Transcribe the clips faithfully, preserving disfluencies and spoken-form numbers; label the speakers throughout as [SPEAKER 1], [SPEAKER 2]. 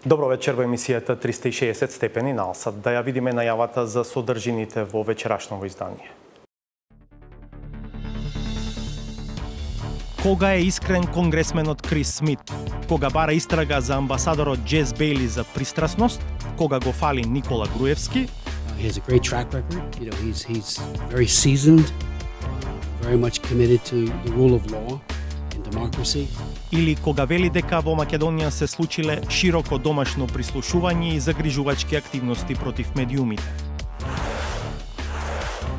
[SPEAKER 1] Добро вечер во емисијата триста и шеесет степени на Алсат. Да ја видиме најавата за содржините во вечерашното издание. Кога е искрен конгресменот Крис Смит? Кога бара истрага за амбасадорот Джез Бейли за пристрасност? Кога го фали Никола Груевски?
[SPEAKER 2] He has a great track record. You know, he's he's very seasoned, very much committed to the rule of law and democracy.
[SPEAKER 1] Или кога вели дека во Македонија се случиле широко домашно прислушување и загрижувачки активности против медиумите.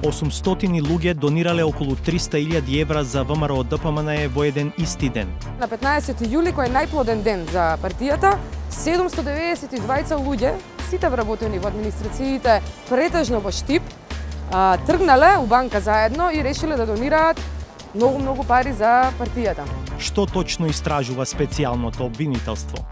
[SPEAKER 1] осумстотини луѓе донирале околу триста илјади евра за ВМРО Д П М Н во еден исти ден.
[SPEAKER 3] На петнаесети јули, кој е најплоден ден за партијата, седумсто деветдесет и двајца луѓе, сите вработени во администрациите, претежно во Штип, тргнале у банка заедно и решиле да донираат многу-многу пари за партијата.
[SPEAKER 1] Што точно истражува специјалното обвинителство?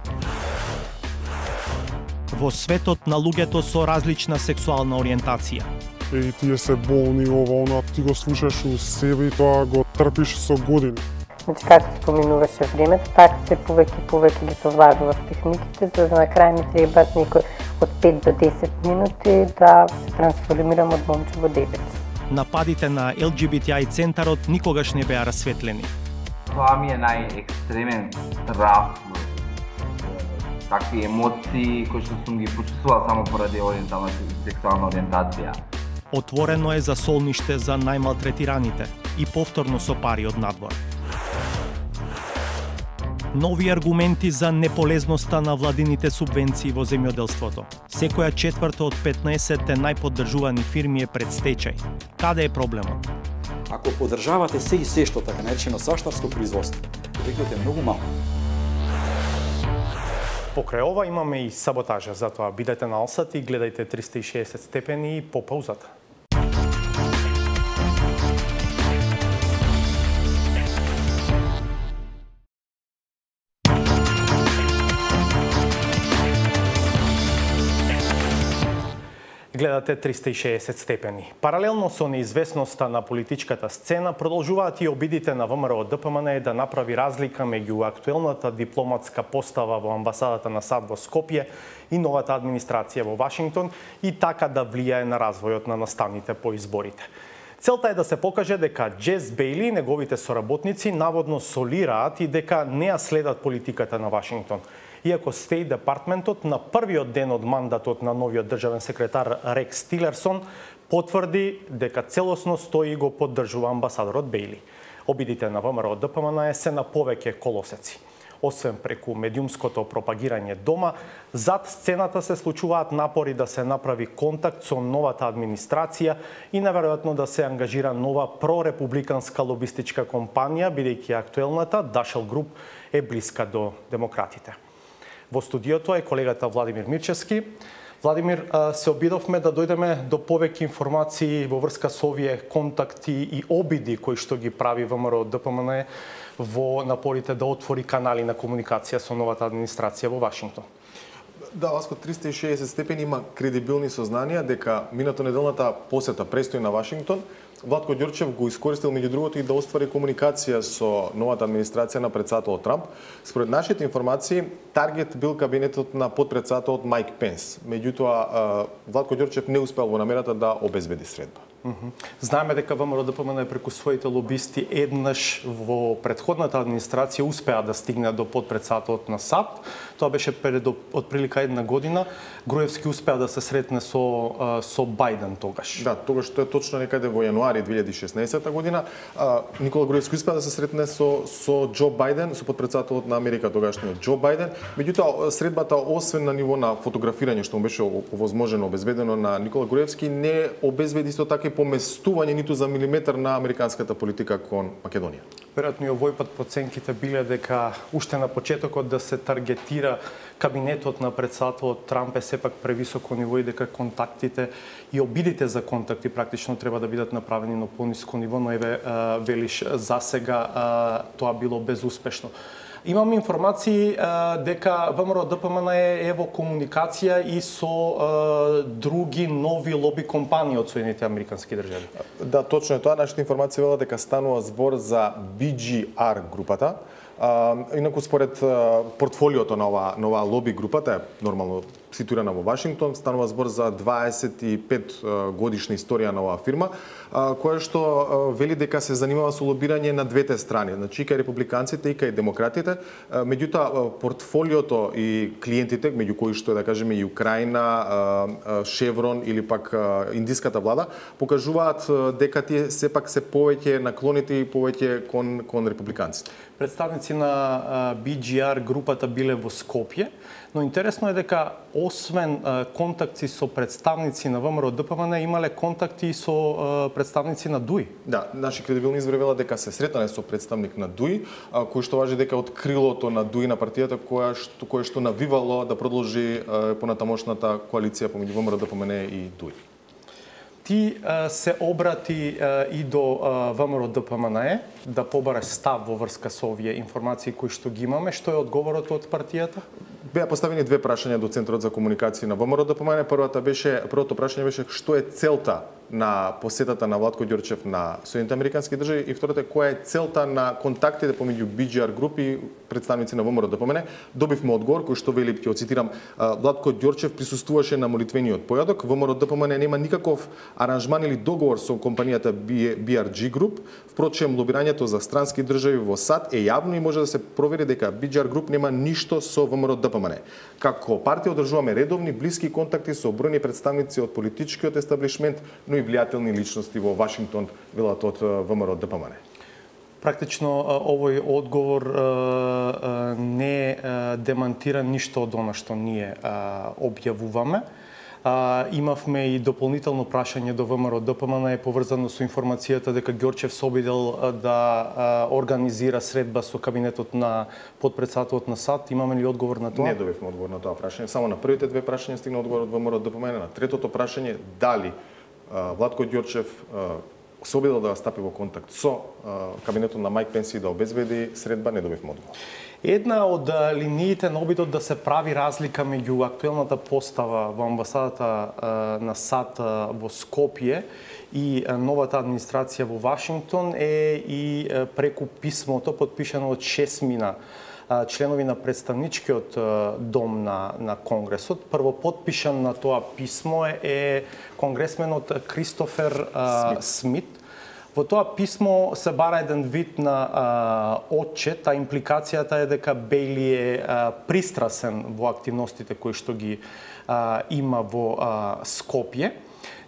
[SPEAKER 1] Во светот на луѓето со различна сексуална ориентација.
[SPEAKER 4] И тие се болни, ова, она, ти го слушаш у себе и тоа го трпиш со години.
[SPEAKER 5] Значи, како се поминуваше времето, така се повеќе и повеќе ги совладува техниките, за да на крај ми треба некој од пет до десет минути да се трансформирам од момче во девет.
[SPEAKER 1] Нападите на Л Г Б Т I центарот никогаш не беа расветлени.
[SPEAKER 6] Тоа ми е најекстремен страв, такви емоции кои што сум ги почувствувал само поради ориентална сексуална ориентација.
[SPEAKER 1] Отворено е за солниште за најмалтретираните и повторно со пари од надвор. Нови аргументи за неполезноста на владините субвенции во земјоделството. Секоја четврта од петнаесет најподдржувани фирми е пред стечај. Каде е проблемот?
[SPEAKER 7] Ако поддржавате се и се што така наречено саштарско производство, ефектот е многу малку.
[SPEAKER 1] Покрај ова имаме и саботажа, затоа бидете на Алсат и гледајте триста и шеесет степени по паузата. Гледате триста и шеесет степени. Паралелно со неизвестноста на политичката сцена, продолжуваат и обидите на ВМРО Д П М Н да направи разлика меѓу актуелната дипломатска постава во амбасадата на САД во Скопје и новата администрација во Вашингтон и така да влијае на развојот на настаните по изборите. Целта е да се покаже дека Джез Бейли и неговите соработници наводно солираат и дека не ја следат политиката на Вашингтон. Иако Стејт Департментот на првиот ден од мандатот на новиот државен секретар Рекс Тилерсон потврди дека целосно стои и го поддржува амбасадорот Бейли. Обидите на ВМРО Д П М Н се на повеќе колосеци. Освен преку медиумското пропагирање дома, зад сцената се случуваат напори да се направи контакт со новата администрација и наверојатно да се ангажира нова прорепубликанска лобистичка компанија, бидејќи актуелната Дашел Груп е блиска до демократите. Во студиото е колегата Владимир Мирчевски. Владимир, се обидовме да дојдеме до повеќе информации во врска со овие контакти и обиди кои што ги прави ВМРО Д П М Н во напорите да отвори канали на комуникација со новата администрација во Вашингтон.
[SPEAKER 8] Да, Васко, триста и шеесет степени има кредибилни сознанија дека минато неделната посета престои на Вашингтон. Владко Ѓорчев го искористил меѓу другото и да оствари комуникација со новата администрација на претседателот Трамп. Според нашите информации, таргет бил кабинетот на подпредседателот Мајк Пенс. Меѓутоа, Владко Ѓорчев не успеал во намерата да обезбеди средба.
[SPEAKER 1] Знаеме дека ВМРО Д П М Н преку своите лобисти еднаш во претходната администрација успеа да стигне до подпредседателот на САД. Тоа беше пред отприлика една година. Груевски успеа да се сретне со со Бајден тогаш.
[SPEAKER 8] Да, тогаш тоа е точно некаде во јануари две илјади и шеснаесета година. Никола Груевски успеа да се сретне со со Џо Бајден, со подпредседателот на Америка тогашниот Џо Бајден. Меѓутоа, средбата освен на ниво на фотографирање што му беше овозможено, обезбедено на Никола Груевски, не обезбеди исто така и поместување ниту за милиметар на американската политика кон Македонија.
[SPEAKER 1] Веројатно и овој пат проценките биле дека уште на почетокот да се таргетира кабинетот на претседателот Трамп е сепак превисоко ниво и дека контактите и обидите за контакти практично треба да бидат направени на пониско ниво, но еве велиш за сега тоа било безуспешно. Имам информации дека ВМРО Д П М Н е во комуникација и со други нови лоби компании од Соединетите Американски држави.
[SPEAKER 8] Да, точно е тоа. Нашите информации велат дека станува збор за Би Џи Ар групата. А, инаку според а, портфолиото на оваа на оваа лоби групата, е нормално ситуирана во Вашингтон, станува збор за дваесет и пет годишна историја на оваа фирма, а, која што а, вели дека се занимава со лобирање на двете страни, значи и кај републиканците и кај демократите. А, меѓутоа портфолиото и клиентите, меѓу кои што да кажеме и Украина, а, Шеврон или пак а, индиската влада, покажуваат а, дека тие сепак се повеќе наклоните и повеќе кон кон републиканците.
[SPEAKER 1] Представници на Би Джи Ар групата биле во Скопје, но интересно е дека освен контакти со представници на ВМРО Д П М Н имале контакти и со представници на Д У И.
[SPEAKER 8] Да, наши кредибилни извори велат дека се сретнале со представник на Д У И, кој што важи дека од крилото на Д У И на партијата која што кое што навивало да продолжи понатамошната коалиција помеѓу ВМРО Д П М Н и Д У И.
[SPEAKER 1] Ти а, се обрати а, и до ВМРО Д П М Н да побараш став во врска со овие информации кои што ги имаме. Што е одговорот од партијата?
[SPEAKER 8] Беа поставени две прашања до Центарот за комуникации на ВМРО Д П М Н. Првата беше, првото прашање беше што е целта на посетата на Владко Ѓорчев на Соединените американски држави и втората е која е целта на контактите помеѓу Би Джи Ар групи и представници на ВМРО Д П М Н. Добивме одговор кој што вели, ќе цитирам, Владко Ѓорчев присуствуваше на молитвениот појадок. ВМРО Д П М Н нема никаков аранжман или договор со компанијата Би Ар Джи Груп. Впрочем, лобирањето за странски држави во САД е јавно и може да се провери дека Би Джи Ар Груп нема ништо со ВМРО Д П М Н. Како партија одржуваме редовни блиски контакти со бројни представници од политичкиот естаблишмент, но и влијателни личности во Вашингтон, велат од ВМРО Д П М Н.
[SPEAKER 1] Практично овој одговор не демантира ништо од она што ние објавуваме. А, имавме и дополнително прашање до ВМРО Д П М Н поврзано со информацијата дека Ѓорчев се обидел да а, организира средба со кабинетот на потпредседателот на САД. Имаме ли одговор на тоа?
[SPEAKER 8] Не добивме одговор на тоа прашање. Само на првите две прашања стигна одговор од ВМРО Д П М Н. На третото прашање дали а, Владко Ѓорчев а, се обидел да стапи во контакт со а, кабинетот на Мајк Пенс и да обезбеди средба, не добивме одговор.
[SPEAKER 1] Една од линиите на обидот да се прави разлика меѓу актуелната постава во амбасадата на САД во Скопје и новата администрација во Вашингтон е и преку писмото подпишано од шестмина членови на представничкиот дом на, на Конгресот. Прво подпишан на тоа писмо е, е конгресменот Кристофер Смит. Смит. Во тоа писмо се бара еден вид на а, отчет, а импликацијата е дека Бејли е а, пристрасен во активностите кои што ги а, има во а, Скопје.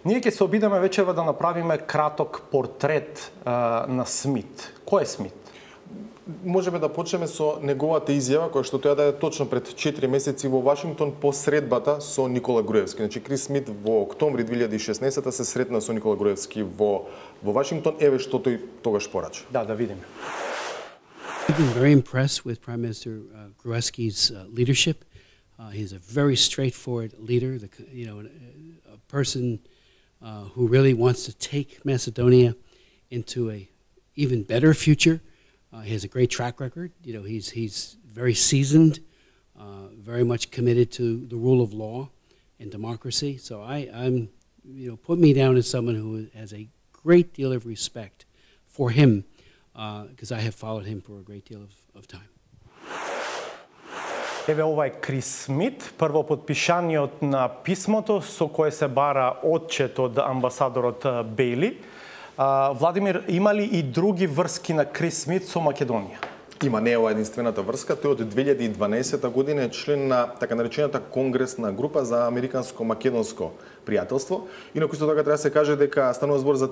[SPEAKER 1] Ние ќе се обидеме вечерва да направиме краток портрет а, на Смит. Кој е Смит?
[SPEAKER 8] Можеме да почнеме со неговата изјава која што тој даде точно пред четири месеци во Вашингтон по средбата со Никола Груевски. Значи Крис Смит во октомври две илјади и шеснаесета се сретна со Никола Груевски во во Вашингтон. Еве што тој тогаш порача.
[SPEAKER 1] Да, да видиме.
[SPEAKER 2] I've been very impressed with Prime Minister uh, Gruevski's uh, leadership. Uh, he's a very straightforward leader, the, you know, a, a person uh, who really wants to take Macedonia into a even better future. Uh, he has a great track record. You know, he's he's very seasoned, uh, very much committed to the rule of law and democracy. So I, I'm, you know, put me down as someone who has a great deal of respect for him, because uh, I have followed him for a great deal of, of time.
[SPEAKER 1] Еве ова е Крис Смит, прво подпишаниот на писмото со кое се бара отчет од амбасадорот Бејли. Владимир, има ли и други врски на Крис Смит со Македонија?
[SPEAKER 8] Има, не е ова единствената врска. Тој од две илјади и дванаесета година е член на така наречената конгресна група за американско-македонско пријателство. Инаку исто така треба да се каже дека станува збор за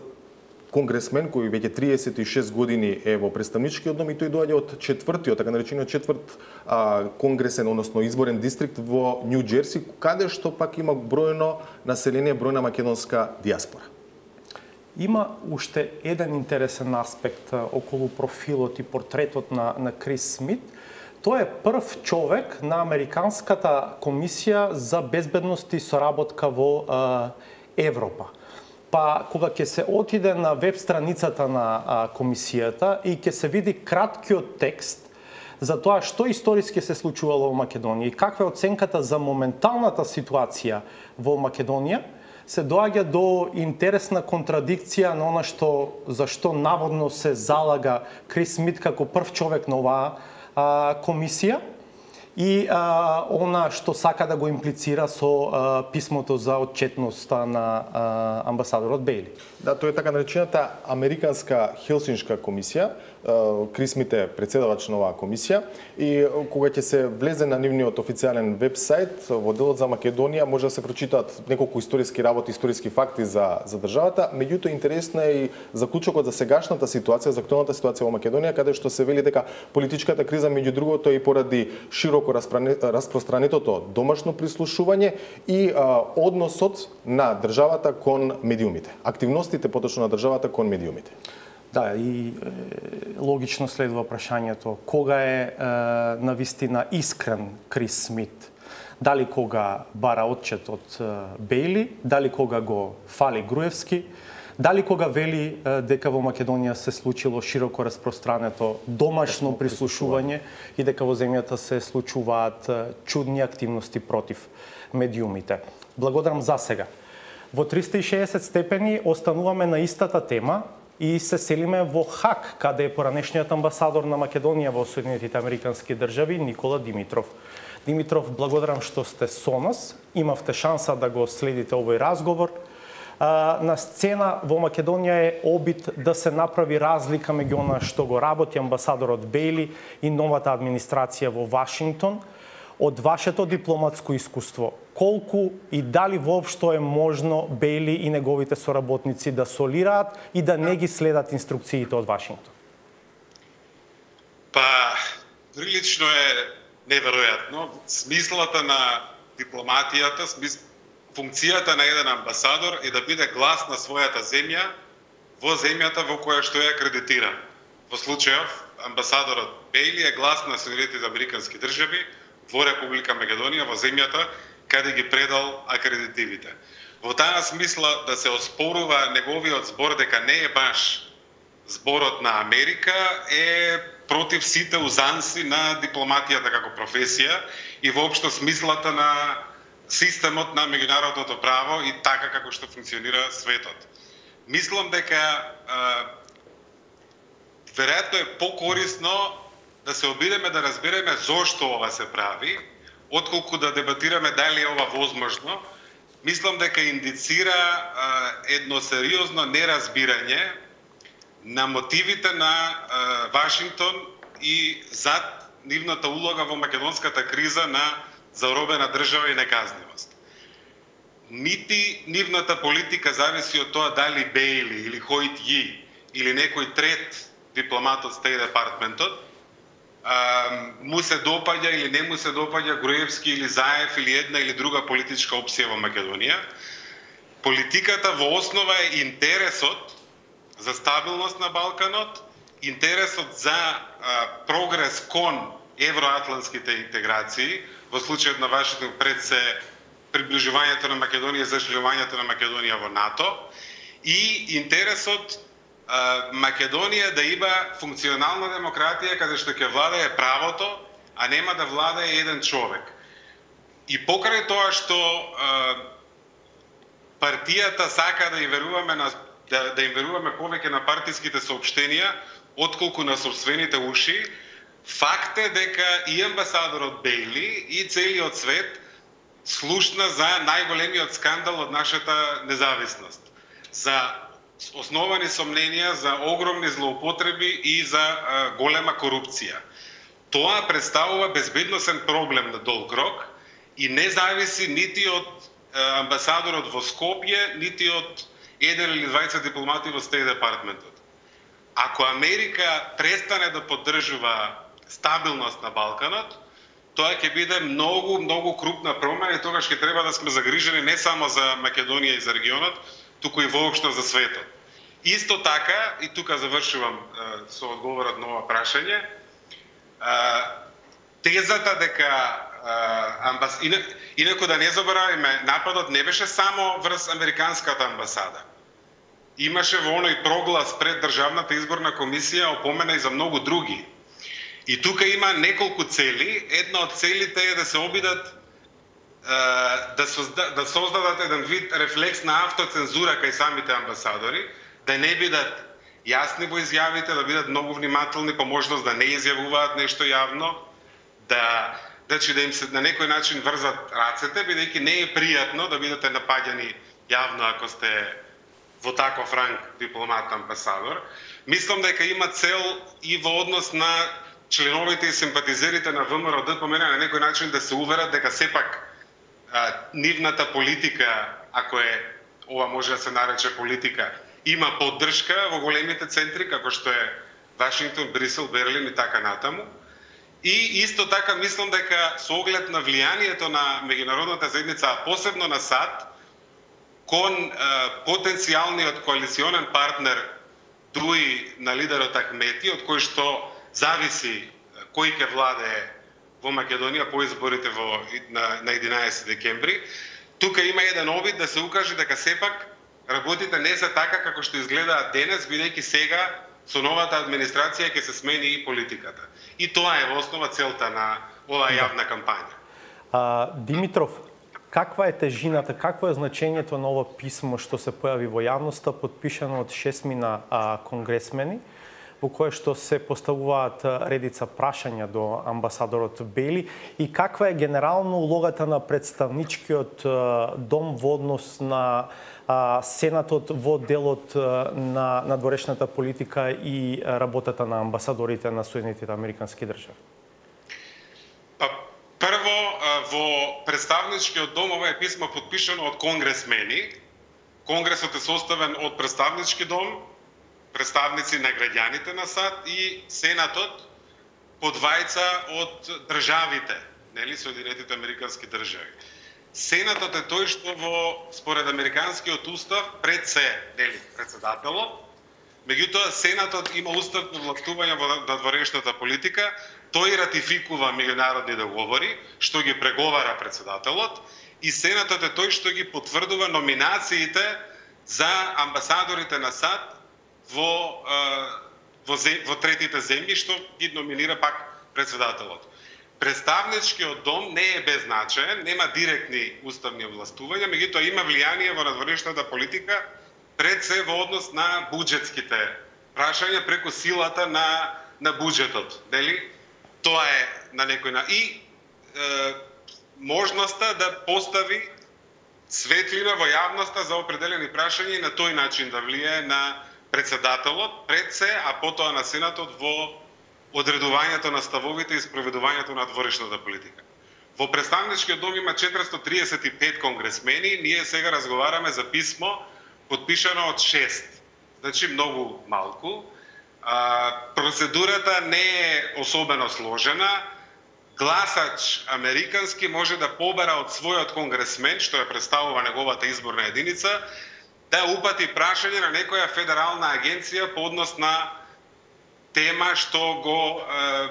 [SPEAKER 8] конгресмен кој веќе триесет и шест години е во представничкиот дом и тој доаѓа од четвртиот, така наречениот четврт а, конгресен, односно изборен дистрикт во Њу Џерси, каде што пак има бројно население, бројна македонска диаспора.
[SPEAKER 1] Има уште еден интересен аспект околу профилот и портретот на, на Крис Смит. Тој е прв човек на Американската комисија за безбедност и соработка во а, Европа. Па кога ќе се отиде на веб страницата на а, комисијата и ќе се види краткиот текст за тоа што историски се случувало во Македонија и каква е оценката за моменталната ситуација во Македонија, се доаѓа до интересна контрадикција на она што за што наводно се залага Крис Смит како прв човек на оваа а, комисија и а, она што сака да го имплицира со а, писмото за отчетноста на а, амбасадорот Бејли.
[SPEAKER 8] Да, тоа е така наречената Американска Хелсиншка комисија. Крис Смит е председавач на оваа комисија и кога ќе се влезе на нивниот официјален вебсайт во делот за Македонија може да се прочитаат неколку историски работи, историски факти за за државата. Меѓутоа интересна е и заклучокот за сегашната ситуација, за актуелната ситуација во Македонија, каде што се вели дека политичката криза меѓу другото е и поради широко распространетото домашно прислушување и а, односот на државата кон медиумите. Активностите поточно на државата кон медиумите.
[SPEAKER 1] Да, и е, логично следува прашањето кога е, е навистина искрен Крис Смит. Дали кога бара отчет од е, Бејли, дали кога го фали Груевски, дали кога вели е, дека во Македонија се случило широко распространето домашно прислушување и дека во земјата се случуваат е, чудни активности против медиумите. Благодарам за сега. Во триста и шеесет степени остануваме на истата тема и се селиме во Хаг, каде е поранешниот амбасадор на Македонија во Соединетите Американски држави Никола Димитров. Димитров, благодарам што сте со нас. Имавте шанса да го следите овој разговор. На сцена во Македонија е обид да се направи разлика меѓу она што го работи амбасадорот Бејли и новата администрација во Вашингтон. Од вашето дипломатско искуство, колку и дали воопшто е можно Бејли и неговите соработници да солираат и да не ги следат инструкциите од Вашингтон?
[SPEAKER 9] Па, прилично е неверојатно. Смислата на дипломатијата, смис... функцијата на еден амбасадор е да биде глас на својата земја во земјата во која што е акредитиран. Во случајов, амбасадорот Бејли е глас на Соединетите Американски држави во Република Македонија, во земјата каде ги предал акредитивите. Во таа смисла да се оспорува неговиот збор дека не е баш зборот на Америка е против сите узанси на дипломатијата како професија и воопшто смислата на системот на меѓународното право и така како што функционира светот. Мислам дека а, веројатно е покорисно да се обидеме да разбереме зошто ова се прави, отколку да дебатираме дали е ова возможно. Мислам дека индицира а, едно сериозно неразбирање на мотивите на а, Вашингтон и зад нивната улога во македонската криза на заробена држава и неказнивост. Нити нивната политика зависи од тоа дали Бејли или Хојт Ји или некој трет дипломат од Стејт департментот му се допаѓа или не му се допаѓа Груевски или Заев или една или друга политичка опција во Македонија. Политиката во основа е интересот за стабилност на Балканот, интересот за а, прогрес кон евроатлантските интеграции, во случајот на Вашингтон пред се приближувањето на Македонија, зачленувањето на Македонија во НАТО и интересот Македонија да има функционална демократија каде што ќе владае правото, а нема да владае еден човек. И покрај тоа што а, партијата сака да им веруваме на да, да им веруваме повеќе на партиските соопштенија отколку на собствените уши, факт е дека и амбасадорот Бејли и целиот свет слушна за најголемиот скандал од нашата независност. За основани сомненија за огромни злоупотреби и за а, голема корупција. Тоа представува безбедносен проблем на долг рок и не зависи нити од а, амбасадорот во Скопје, нити од еден или двајца дипломати во Стејт департментот. Ако Америка престане да поддржува стабилност на Балканот, тоа ќе биде многу, многу крупна промена и тогаш ќе треба да сме загрижени не само за Македонија и за регионот, туку и воопшто за светот. Исто така, и тука завршувам е, со одговорот на ова прашање, е, тезата дека е, амбас... инаку да не заборавиме, нападот не беше само врз Американската амбасада. Имаше во оној проглас пред Државната изборна комисија опомена и за многу други. И тука има неколку цели. Една од целите е да се обидат да, созда, да создадат еден вид рефлекс на автоцензура кај самите амбасадори, да не бидат јасни во изјавите, да бидат многу внимателни, по можност да не изјавуваат нешто јавно, да значи да им се на некој начин врзат рацете, бидејќи не е пријатно да бидете напаѓани јавно ако сте во таков ранг дипломат амбасадор. Мислам дека има цел и во однос на членовите и симпатизерите на ВМРО ДПМН на некој начин да се уверат дека сепак а, нивната политика, ако е ова може да се нарече политика, има поддршка во големите центри како што е Вашингтон, Брисел, Берлин и така натаму. И исто така мислам дека со оглед на влијанието на меѓународната заедница, а посебно на САД, кон е, потенцијалниот коалиционен партнер дуи на лидерот Ахмети, од кој што зависи кој ќе владее во Македонија по изборите во, на, на единаесети декември, тука има еден обид да се укаже дека сепак работите не се така како што изгледаат денес, бидејќи сега со новата администрација ќе се смени и политиката. И тоа е во основа целта на оваа јавна кампања.
[SPEAKER 1] А, Димитров, каква е тежината, какво е значењето на ова писмо што се појави во јавноста, подпишано од шестмина а, конгресмени, во кое што се поставуваат редица прашања до амбасадорот Бели, и каква е генерално улогата на представничкиот дом во однос на а, Сенатот во делот на надворешната политика и работата на амбасадорите на Соединетите Американски држави?
[SPEAKER 9] Па, прво, во представничкиот дом ова е писмо подпишано од конгресмени. Конгресот е составен од представнички дом, представници на граѓаните на САД и Сенатот по двајца од државите, нели, Соединетите Американски држави. Сенатот е тој што во според американскиот устав пред се, нели, председателот. Меѓутоа Сенатот има уставно властување во надворешната политика, тој ратификува меѓународни договори, што ги преговара председателот, и Сенатот е тој што ги потврдува номинациите за амбасадорите на САД во, во, во третите земји, што ги номинира пак председателот. Представничкиот дом не е беззначаен, нема директни уставни властувања, меѓутоа има влијание во надворешната политика пред се во однос на буџетските прашања преку силата на, на буџетот. Нели? Тоа е на некој на... И е, можноста да постави светлина во јавноста за определени прашања и на тој начин да влијае на председателот пред се, а потоа на Сенатот во одредувањето на ставовите и спроведувањето на надворешната политика. Во представничкиот дом има четиристотини триесет и пет конгресмени, ние сега разговараме за писмо подпишано од шест. Значи многу малку. А, процедурата не е особено сложена. Гласач американски може да побара од својот конгресмен, што ја представува неговата изборна единица, да упати прашање на некоја федерална агенција по однос на тема што го е,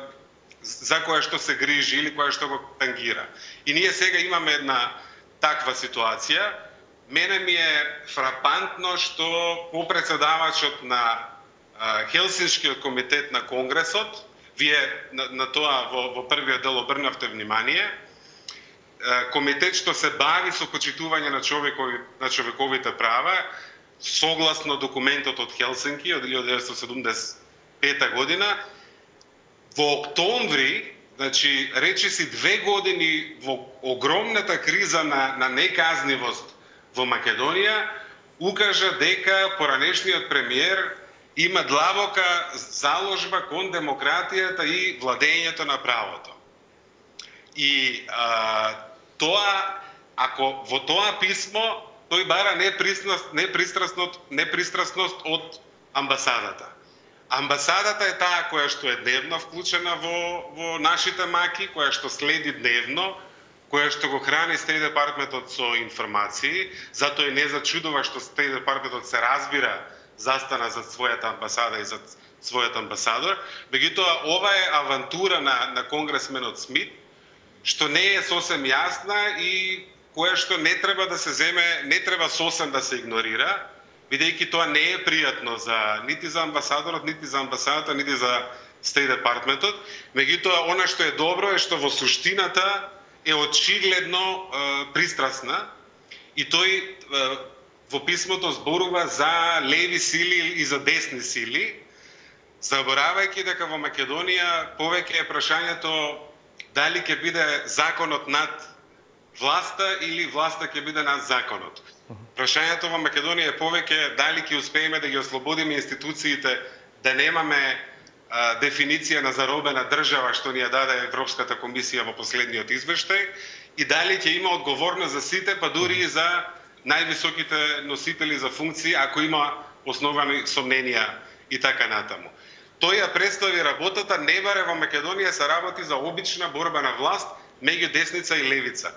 [SPEAKER 9] за која што се грижи или која што го тангира. И ние сега имаме една таква ситуација. Мене ми е фрапантно што попредседавачот на е, Хелсиншкиот комитет на Конгресот, вие на, на тоа во, во првиот дел обрнавте внимание, комитет што се бави со почитување на човекови на човековите права, согласно документот од Хелсинки од илјада деветстотини седумдесет и пета година, во октомври, значи речиси две години во огромната криза на на неказнивост во Македонија, укажа дека поранешниот премиер има длабока заложба кон демократијата и владењето на правото. И а, тоа, ако во тоа писмо, тој бара непристрасност, непристрасност, непристрасност од амбасадата. Амбасадата е таа која што е дневно вклучена во, во нашите маки, која што следи дневно, која што го храни Стейт департментот со информации, затоа и не зачудува што Стейт департментот се разбира застана за својата амбасада и за својот амбасадор. Меѓутоа, ова е авантура на, на конгресменот Смит, што не е сосем јасна и која што не треба да се земе, не треба сосем да се игнорира, бидејќи тоа не е пријатно за нити за амбасадорот, нити за амбасадата, нити за Стейт департментот. Меѓутоа, она што е добро е што во суштината е очигледно е, пристрасна и тој е, во писмото зборува за леви сили и за десни сили, заборавајќи дека во Македонија повеќе е прашањето дали ќе биде законот над власта или власта ќе биде над законот. Прашањето во Македонија е повеќе дали ќе успееме да ги ослободиме институциите, да немаме а, дефиниција на заробена држава што ни ја даде Европската комисија во последниот извештај, и дали ќе има одговорност за сите, па дури и за највисоките носители за функции, ако има основани сомненија и така натаму. Тој ја представи работата, не баре во Македонија се работи за обична борба на власт меѓу десница и левица.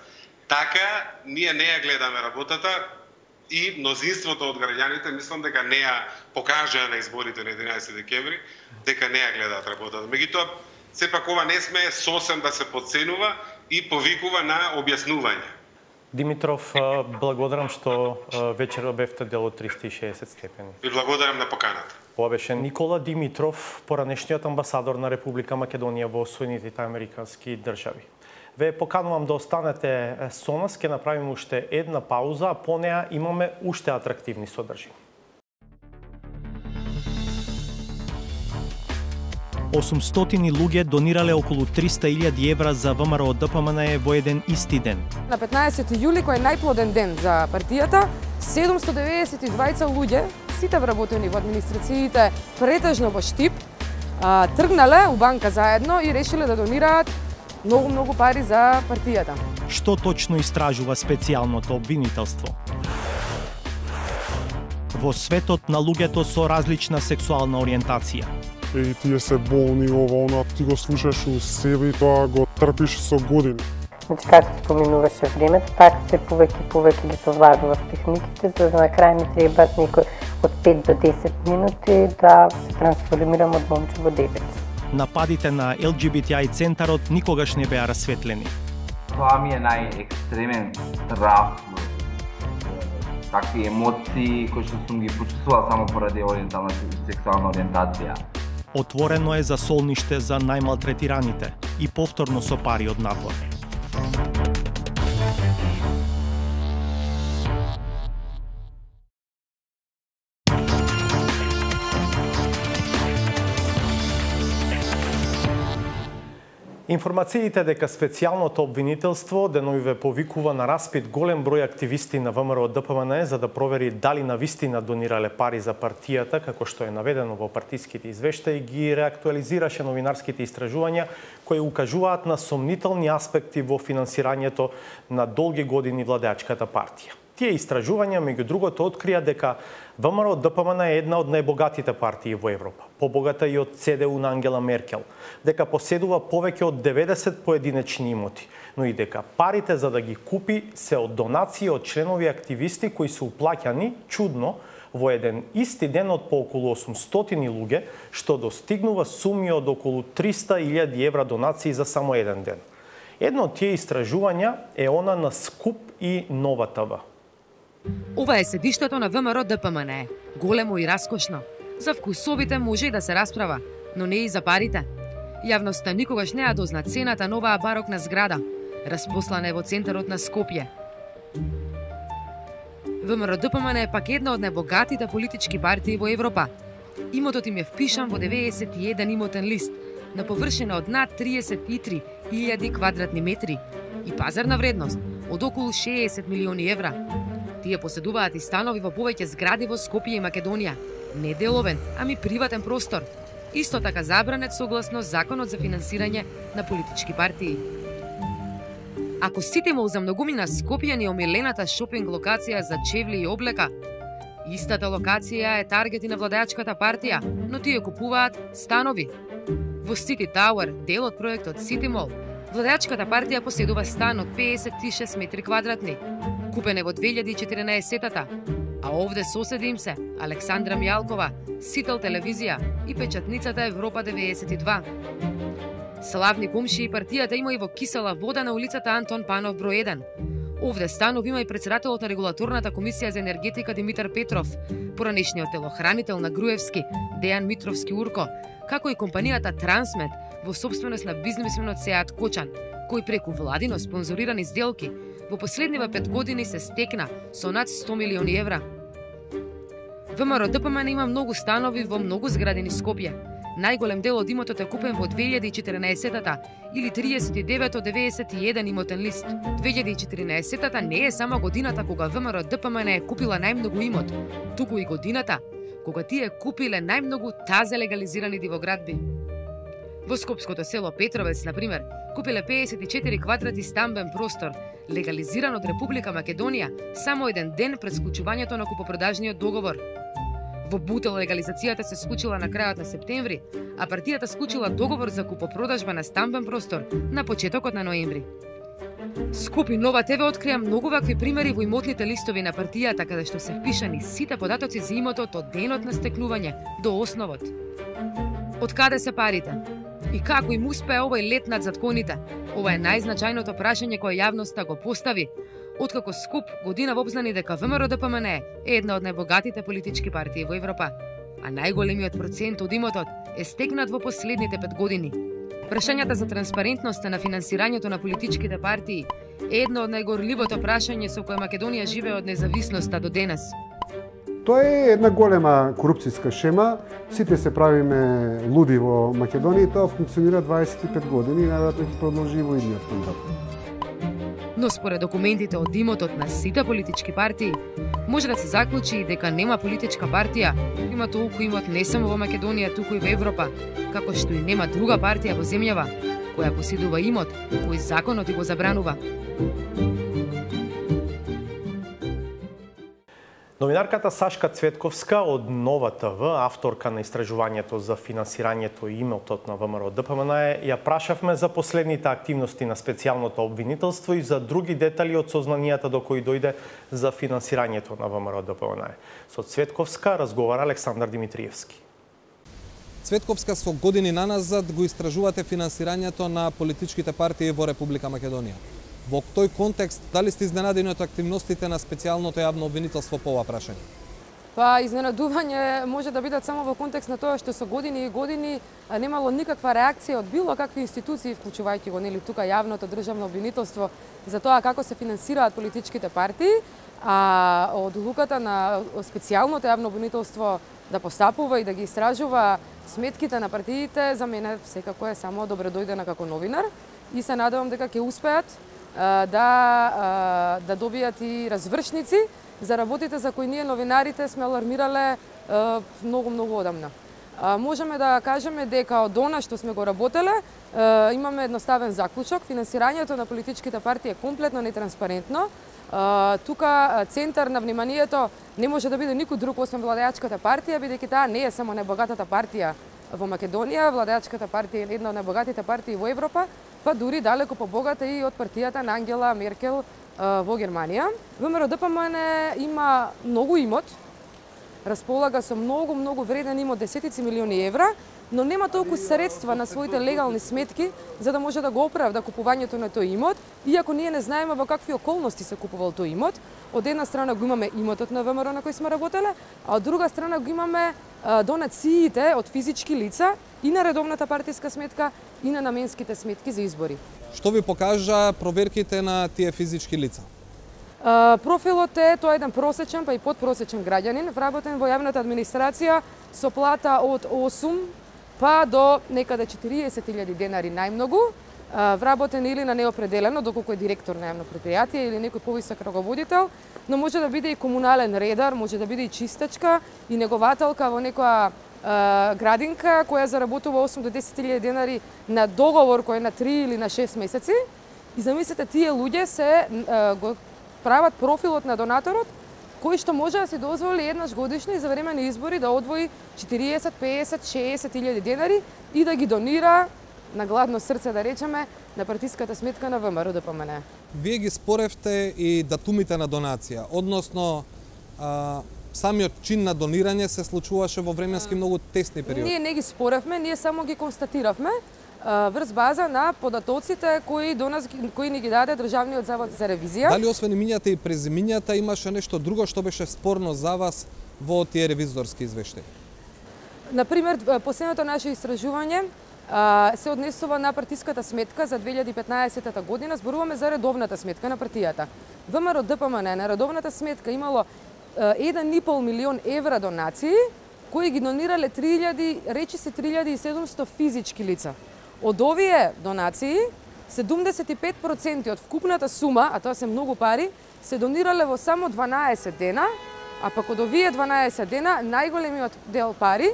[SPEAKER 9] Така, ние не ја гледаме работата и мнозинството од граѓаните, мислам дека не ја покажаа на изборите на единаесети декември, дека не ја гледаат работата. Меѓутоа, сепак ова не сме сосем да се подценува и повикува на објаснување.
[SPEAKER 1] Димитров, благодарам што вечера бевте дел од триста и шеесет степени.
[SPEAKER 9] Ви благодарам на поканата.
[SPEAKER 1] Ова беше Никола Димитров, поранешниот амбасадор на Република Македонија во Соединетите Американски држави. Ве поканувам да останете со нас, ќе направиме уште една пауза, а по неа имаме уште атрактивни содржини.
[SPEAKER 10] осумстотини луѓе донирале околу триста илјади евра за ВМРО Д П М Н Е во еден исти ден.
[SPEAKER 3] На петнаесети јули, кој е најплоден ден за партијата, седумсто деветдесет и двајца луѓе, сите вработени во администрациите, претежно во Штип, тргнале у банка заедно и решиле да донираат многу-многу пари за партијата.
[SPEAKER 10] Што точно истражува специјалното обвинителство? Во светот на луѓето со различна сексуална ориентација.
[SPEAKER 4] И тие се болни, ова, она, ти го слушаш у себе и тоа го трпиш со години.
[SPEAKER 5] Значи, како се поминуваше времето, така се повеќе и повеќе ги совладува техниките, за да на крај ми требаат некој од пет до десет минути да се трансформирам од момче во девојче.
[SPEAKER 10] Нападите на Л Г Б Т I центарот никогаш не беа расветлени.
[SPEAKER 6] Тоа ми е најекстремен страв, такви емоции кои што сум ги почувствувал само поради ориентална сексуална ориентација.
[SPEAKER 10] Отворено е за солниште за најмалтретираните и повторно со пари од напор.
[SPEAKER 1] Информациите дека специјалното обвинителство деновиве повикува на распит голем број активисти на ВМРО Д П М Н Е за да провери дали навистина донирале пари за партијата, како што е наведено во партиските извештаи, ги реактуализираше новинарските истражувања кои укажуваат на сомнителни аспекти во финансирањето на долги години владеачката партија. Тие истражувања, меѓу другото, открија дека ВМРО Д П М Н е една од најбогатите партии во Европа, побогата и од Ц Д У на Ангела Меркел, дека поседува повеќе од деветдесет поединечни имоти, но и дека парите за да ги купи се од донации од членови активисти кои се уплаќани, чудно, во еден исти ден од по околу осумстотини луѓе, што достигнува суми од околу триста илјади евра донации за само еден ден. Едно од тие истражувања е она на Скуп и Нова Т В.
[SPEAKER 3] Ова е седиштето на ВМРО Д П М Н Е. Големо и раскошно. За вкусовите може и да се расправа, но не и за парите. Јавноста никогаш не ја дозна цената на оваа барокна зграда. Распослана е во центарот на Скопје. ВМРО Д П М Н е пак една од најбогатите политички партии во Европа. Имотот им е впишан во деветдесет и еден имотен лист, на површина од над триесет и три илјади квадратни метри и пазарна вредност од околу шеесет милиони евра. Тие поседуваат и станови во повеќе згради во Скопје и Македонија. Не деловен, ами приватен простор. Исто така забранет согласно Законот за финансирање на политички партии. Ако сетимо за многумина Скопје ни омилената шопинг локација за чевли и облека, истата локација е таргет и на владеачката партија, но тие купуваат станови. Во Сити Тауер, дел од проектот Сити Мол, владеачката партија поседува стан од педесет и шест метри квадратни. Купен е во две илјади и четиринаесетта, а овде соседи им се Александра Мијалкова, Сител телевизија и печатницата Европа деветдесет и два. Славни комшии партијата има и во Кисела вода на улицата Антон Панов број еден. Овде станов има и председателот на регулаторната комисија за енергетика Димитар Петров, поранешниот телохранител на Груевски Дејан Митровски Урко, како и компанијата Трансмет во собственост на бизнисменот Сеат Кочан, кој преку владино спонзорирани сделки во последниве пет години се стекна со над сто милиони евра. ВМРО Д П М Н има многу станови во многу згради низ Скопје. Најголем дел од имотот е купен во две илјади и четирнаесеттата или триесет и девет од деветдесет и еден имотен лист. две илјади и четирнаесеттата не е само годината кога ВМРО Д П М Н е купила најмногу имот, туку и годината кога тие купиле најмногу тазе легализирани дивоградби. Во скопското село Петровец, на пример, купиле пеесет и четири квадрати стамбен простор, легализиран од Република Македонија само еден ден пред склучувањето на купопродажниот договор. Во Бутел легализацијата се случила на крајот на септември, а партијата склучила договор за купопродажба на стамбен простор на почетокот на ноември. Скопи Нова ТВ открија многу вакви примери во имотните листови на партијата, каде што се впишани сите податоци за имотот од денот на стекнување до основот. Од каде се парите? И како им успее овој лет над законите? Ова е најзначајното прашање кое јавноста го постави, откако Скоп година вопзнани дека ВМРО Д П М Н е една од најбогатите политички партии во Европа, а најголемиот процент од имотот е стекнат во последните пет години. Прашањата за транспарентноста на финансирањето на политичките партии е едно од најгорливото прашање со кое Македонија живее од независноста до денес.
[SPEAKER 11] Тоа е една голема корупцијска шема. Сите се правиме луди во Македонија и тоа функционира дваесет и пет години и најверојатно ќе продолжи во идниот мандат.
[SPEAKER 3] Но според документите од имотот на сите политички партии, може да се заклучи дека нема политичка партија, има толку имот не само во Македонија, туку и во Европа, како што и нема друга партија во земјава која поседува имот кој законот и го забранува.
[SPEAKER 1] Новинарката Сашка Цветковска од Нова ТВ, авторка на истражувањето за финансирањето и имотот на ВМРО Д П М Н, ја прашавме за последните активности на специјалното обвинителство и за други детали од сознанијата до кои дојде за финансирањето на ВМРО Д П М Н. Со Цветковска разговара Александар Димитриевски.
[SPEAKER 12] Цветковска, со години наназад го истражувате финансирањето на политичките партии во Република Македонија. Во тој контекст, дали сте изненадени од активностите на специјалното јавно обвинителство по ова прашање?
[SPEAKER 3] Па, изненадување може да бидат само во контекст на тоа што со години и години немало никаква реакција од било какви институции, вклучувајќи го нели тука јавното државно обвинителство, за тоа како се финансираат политичките партии, а одлуката на специјалното јавно обвинителство да постапува и да ги истражува сметките на партиите, за мене секако е само добредојдена како новинар и се надевам дека ќе успеат да, да добијат и развршници за работите за кои ние новинарите сме алармирале многу-многу одамна. Можеме да кажеме дека од она што сме го работеле, имаме едноставен заклучок. Финансирањето на политичките партии е комплетно нетранспарентно. Тука центар на вниманието не може да биде никој друг освен владеачката партија, бидејќи таа не е само најбогатата партија во Македонија, владеачката партија е една од најбогатите партии во Европа, па дури далеко побогата и од партијата на Ангела Меркел во Германија. ВМРО Д П М Н има многу имот, располага со многу, многу вреден имот, десетици милиони евра, но нема толку средства на своите легални сметки за да може да го оправда купувањето на тој имот, иако ние не знаеме во какви околности се купувал тој имот. Од една страна го имаме имотот на ВМРО на кој сме работеле, а од друга страна го имаме донациите од физички лица и на редовната партиска сметка и на наменските сметки за избори.
[SPEAKER 12] Што ви покажа проверките на тие физички лица?
[SPEAKER 3] Профилот е тоа еден просечен, па и подпросечен граѓанин, вработен во јавната администрација со плата од осум па до некаде четириесет илјади денари најмногу, вработен или на неопределено, доколку е директор на јавно предпријатие или некој повисок раководител, но може да биде и комунален редар, може да биде и чистачка и негователка во некоја градинка која заработува осум до десет илјади денари на договор кој е на три или на шест месеци. И замислете, тие луѓе се го прават профилот на донаторот, кој што може да се дозволи еднаш годишно и за време на избори да одвои четириесет, пеесет, шеесет илјади денари и да ги донира на гладно срце, да речеме, на партиската сметка на ВМРО Д П М Н.
[SPEAKER 12] Вие ги споревте и датумите на донација, односно а, самиот чин на донирање се случуваше во временски многу тесни периоди.
[SPEAKER 3] Ние не ги споревме, ние само ги констатиравме врз база на податоците кои до нас кои ни ги даде Државниот завод за ревизија.
[SPEAKER 12] Дали освен имињата и презимињата имаше нешто друго што беше спорно за вас во тие ревизорски извештаи?
[SPEAKER 3] Например, последното наше истражување се однесува на партиската сметка за две илјади и петнаесета година, зборуваме за редовната сметка на партијата. ВМРО Д П М Н на редовната сметка имало еден и пол милион евра донации, кои ги донирале три илјади, речи се три илјади и седумсто физички лица. Од овие донации, седумдесет и пет проценти од вкупната сума, а тоа се многу пари, се донирале во само дванаесет дена, а пак од овие дванаесет дена, најголемиот дел пари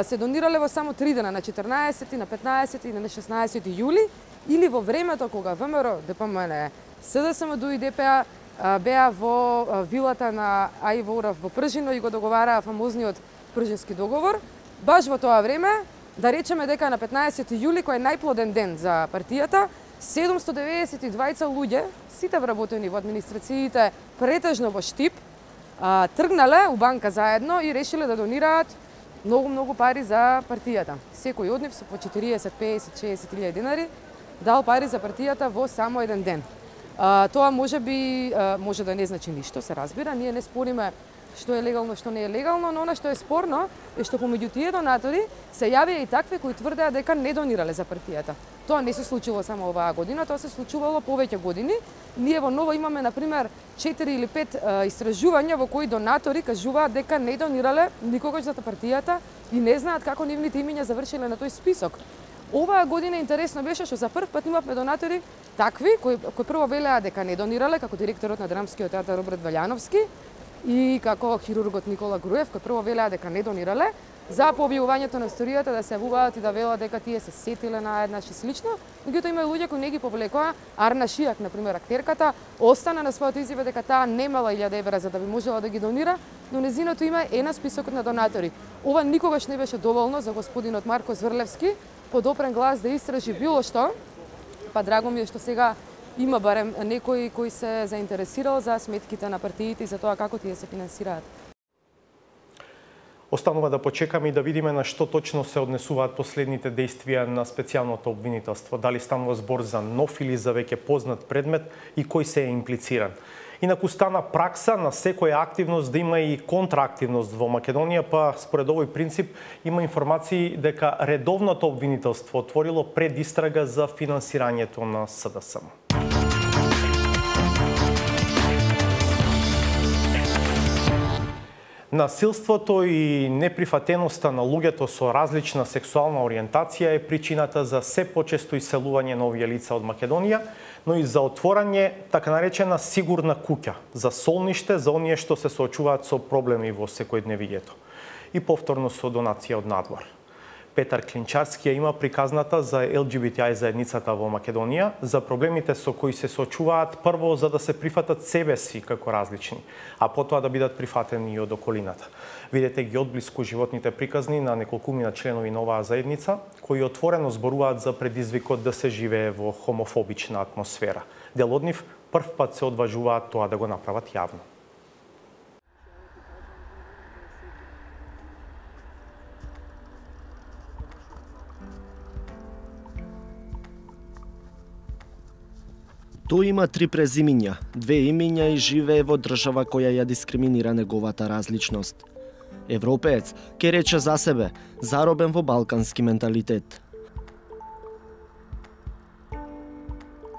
[SPEAKER 3] се донирале во само три дена, на четрнаесети, на петнаесети и на шеснаесети јули, или во времето кога ВМРО, ДПМН, СДСМ и ДПА беа во вилата на Аиво Урав во Пржино и го договараа фамозниот Пржински договор. Баш во тоа време, да речеме дека на петнаесети јули, кој е најплоден ден за партијата, седумсто деветдесет и двајца луѓе, сите вработени во администрациите, претежно во Штип, тргнале у банка заедно и решиле да донираат многу-многу пари за партијата. Секој од нив со по четириесет, пеесет, шеесет илјади денари дал пари за партијата во само еден ден. А, тоа може би може да не значи ништо, се разбира, ние не спориме што е легално, што не е легално, но она што е спорно е што помеѓу тие донатори се јавија и такви кои тврдеа дека не донирале за партијата. Тоа не се случило само оваа година, тоа се случувало повеќе години. Ние во Ново имаме, например, четири или пет истражувања во кои донатори кажуваат дека не донирале никогаш за партијата и не знаат како нивните имиња завршиле на тој список. Оваа година интересно беше што за прв пат имавме донатори такви кои, кои прво велеа дека не донирале, како директорот на Драмскиот театар Роберт Валјановски и како хирургот Никола Груев, кои прво велеа дека не донирале, за по објавувањето на историјата да се јавуваат и да велат дека тие се сетиле на еднаш и слично. Меѓутоа има луѓе кои не ги повлекоа. Арна Шијак, например, актерката, остана на своето изјава дека таа немала илјада евра за да би можела да ги донира, но незиното име е на списокот на донатори. Ова никогаш не беше доволно за господинот Марко Зврлевски, подопрен глас да истражи било што, па драго ми е што сега има барем некој кој се заинтересирал за сметките на партиите и за тоа како тие се финансираат.
[SPEAKER 1] Останува да почекаме и да видиме на што точно се однесуваат последните действија на специјалното обвинителство. Дали станува збор за нов или за веќе познат предмет и кој се е имплициран. Инаку стана пракса на секоја активност да има и контраактивност во Македонија, па според овој принцип има информации дека редовното обвинителство отворило предистрага за финансирањето на СДСМ. Насилството и неприфатеноста на луѓето со различна сексуална ориентација е причината за се почесто иселување на овие лица од Македонија, но и за отворање така наречена сигурна куќа, за солниште за оние што се соочуваат со проблеми во секојдневието и повторно со донација од надвор. Петар Клинчарски ја има приказната за Ел Џи Би Ти Ај заедницата во Македонија, за проблемите со кои се соочуваат прво за да се прифатат себе си како различни, а потоа да бидат прифатени и од околината. Видете ги одблиску животните приказни на неколкумина членови на оваа заедница, кои отворено зборуваат за предизвикот да се живее во хомофобична атмосфера. Дел од нив прв пат се одважуваат тоа да го направат јавно.
[SPEAKER 13] Тој има три презимиња, две имиња и живее во држава која ја дискриминира неговата различност. Европеец ке рече за себе, заробен во балкански менталитет.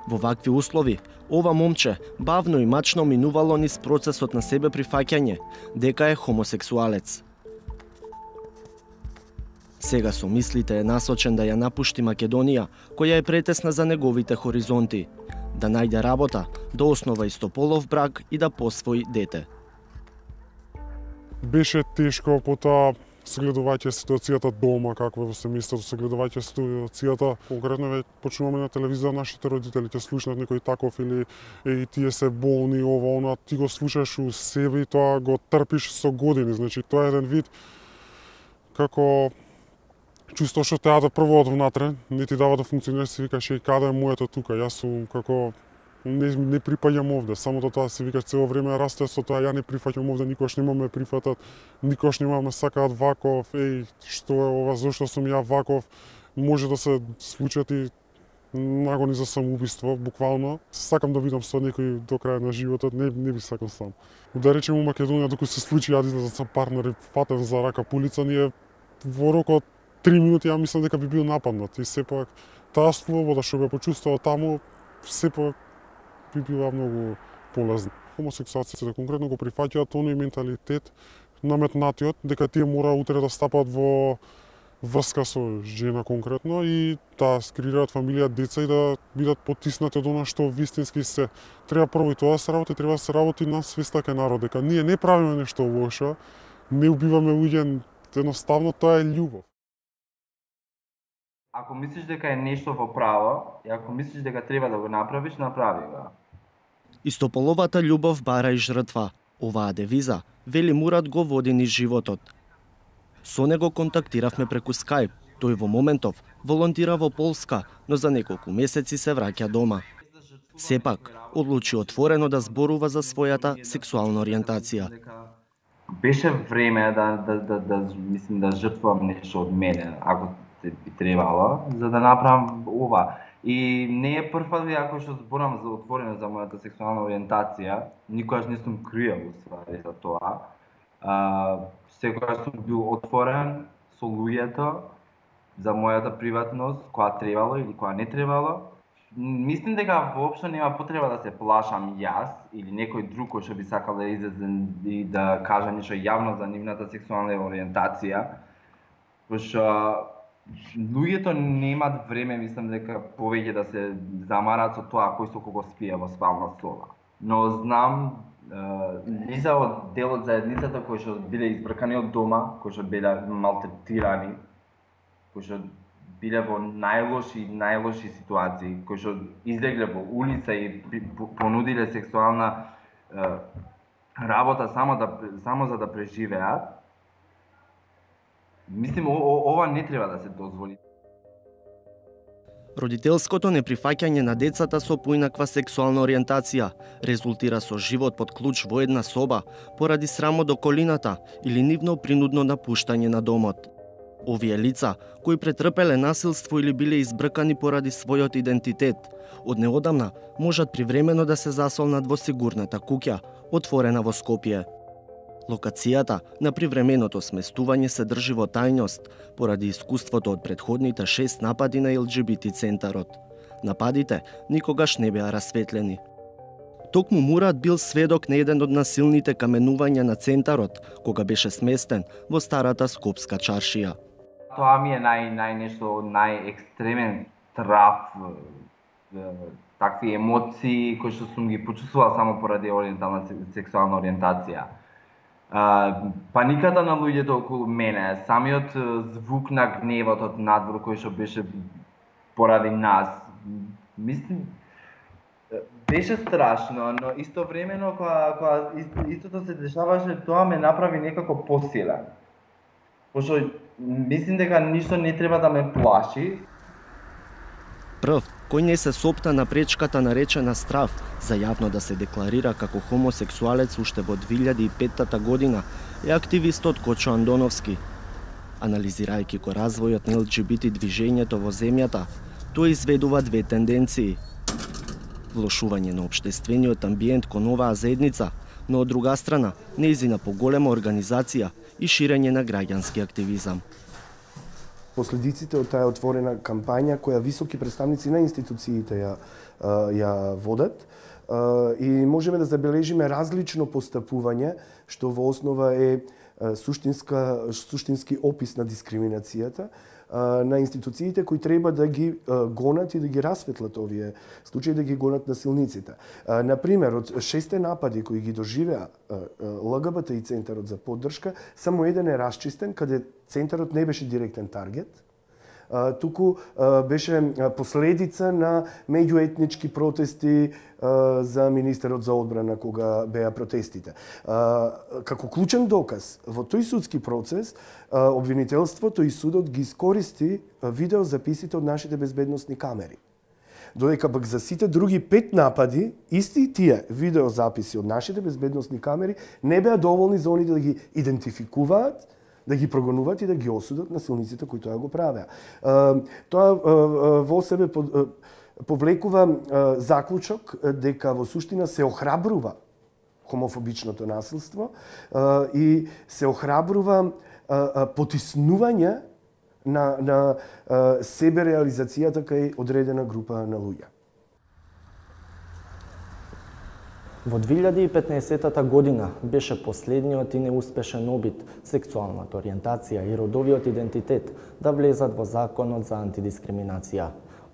[SPEAKER 13] Во вакви услови, ова момче бавно и мачно минувало низ процесот на себе прифаќање, дека е хомосексуалец. Сега со мислите е насочен да ја напушти Македонија, која е претесна за неговите хоризонти, да најде работа, да основа истополов брак и да посвои дете.
[SPEAKER 4] Беше тешко, потоа согледувајќи ситуацијата дома, каква е во семејството, согледувајќи ситуацијата, конкретно веќе почнуваме на телевизија, нашите родители ќе слушнат некој таков или и тие се болни, ова, она, ти го слушаш у себе и тоа го трпиш со години, значи тоа е еден вид како чувство што те да прво од внатре, не ти дава да функционираш, се викаш и каде е моето тука, јас сум како не, не припаѓам овде, само тоа се викаш цело време расте со тоа, ја не прифаќам овде, никош нема ме прифатат, никош нема ме сакаат ваков, еј, што е ова, зошто сум ја ваков, може да се случат и нагони за самоубиство, буквално. Сакам да видам со некој до крај на животот, не, не би сакал сам. Да речем у Македонија, докато се случи, ја излезам со партнер и фатен за рака по улица, ние во рок од три минути ја мислам дека би бил нападнат и сепак таа слобода што бе почувствувал таму сепак би била многу полезна. хомосексуалците конкретно го прифаќаат тоној менталитет наметнатиот дека тие мора утре да стапат во врска со жена конкретно и да скреираат фамилија, деца и да бидат потиснати од она што вистински се. Треба прво и тоа да се работи, треба да се работи на свеста кај народ, дека ние не правиме нешто лошо, не убиваме луѓе, едноставно тоа е љубов.
[SPEAKER 6] Ако мислиш дека е нешто во право, и ако мислиш дека треба да го направиш, направи го.
[SPEAKER 13] Истополовата љубов бара и жртва. Оваа девиза, вели Мурат, го води низ животот. Со него контактиравме преку Skype. Тој во моментов волонтира во Полска, но за неколку месеци се враќа дома. Сепак, одлучи отворено да зборува за својата сексуална ориентација.
[SPEAKER 6] Беше време да, да, да, да, мислим, да жртвувам нешто од мене, ако би требало, за да направам ова. И не е прв пат ако што зборам за отворено за мојата сексуална ориентација, никогаш не сум криел уствари за тоа. А, секогаш сум бил отворен со луѓето за мојата приватност, која требало или која не требало. Мислим дека воопшто нема потреба да се плашам јас или некој друг кој што би сакал да излезе и да каже нешто јавно за нивната сексуална ориентација. Пошто луѓето немаат време, мислам дека повеќе да се замарат со тоа кој со кого спие во спална соба. Но знам лица од дел од заедницата кои што биле избркани од дома, кои што биле малтретирани, кои што биле во најлоши најлоши ситуации, кои што излегле во улица и понудиле сексуална е, работа само да само за да преживеат. Мислим, ова не треба да се дозволи.
[SPEAKER 13] Родителското неприфаќање на децата со поинаква сексуална ориентација резултира со живот под клуч во една соба поради срамот до колината или нивно принудно напуштање на домот. Овие лица, кои претрпеле насилство или биле избркани поради својот идентитет, од неодамна можат привремено да се засолнат во сигурната куќа, отворена во Скопје. Локацијата на привременото сместување се држи во тајност поради искуството од предходните шест напади на Ел Џи Би Ти центарот. Нападите никогаш не беа расветлени. Токму Мурат бил сведок на еден од насилните каменувања на центарот, кога беше сместен во старата скопска чаршија.
[SPEAKER 6] Тоа ми е нај, нај нешто, најекстремен трав, такви емоции кои што сум ги почувствувал само поради ориентална сексуална ориентација. Uh, паниката на луѓето околу мене, самиот звук на гневот од надвор кој што беше поради нас, мислим, беше страшно, но истовремено кога, кога истото се дешаваше, тоа ме направи некако посилен. Пошто мислим дека ништо не треба да ме плаши.
[SPEAKER 13] Прв, кој не се сопта на пречката наречена страв за јавно да се декларира како хомосексуалец уште во две илјади и петта година, е активистот Кочо Андоновски. Анализирајќи го развојот на Ел Џи Би Ти движењето во земјата, тој изведува две тенденции. Влошување на општествениот амбиент кон оваа заедница, но од друга страна, нејзина поголема организација и ширење на граѓански активизам.
[SPEAKER 14] Последиците од таа отворена кампања која високи представници на институциите ја, ја водат и можеме да забележиме различно постапување што во основа е суштинска, суштински опис на дискриминацијата на институциите кои треба да ги гонат и да ги расветлат овие случаи, да ги гонат насилниците. Например, од шесте напади кои ги доживеа Л Г Б Т И центарот за поддршка, само еден е расчистен, каде центарот не беше директен таргет, туку беше последица на меѓуетнички протести за министерот за одбрана кога беа протестите. Како клучен доказ во тој судски процес, обвинителството и судот ги искористи видеозаписите од нашите безбедносни камери. Додека пак за сите други пет напади, исти тие видеозаписи од нашите безбедносни камери не беа доволни за оние да ги идентификуваат, да ги прогонуваат и да ги осудат насилниците кои тоа го правеа. Тоа во себе повлекува заклучок дека во суштина се охрабрува хомофобичното насилство и се охрабрува потиснување на, на себе реализацијата кај одредена група на луѓе.
[SPEAKER 13] Во две илјади и петнаесетта година беше последниот и неуспешен обид сексуалната ориентација и родовиот идентитет да влезат во Законот за антидискриминација.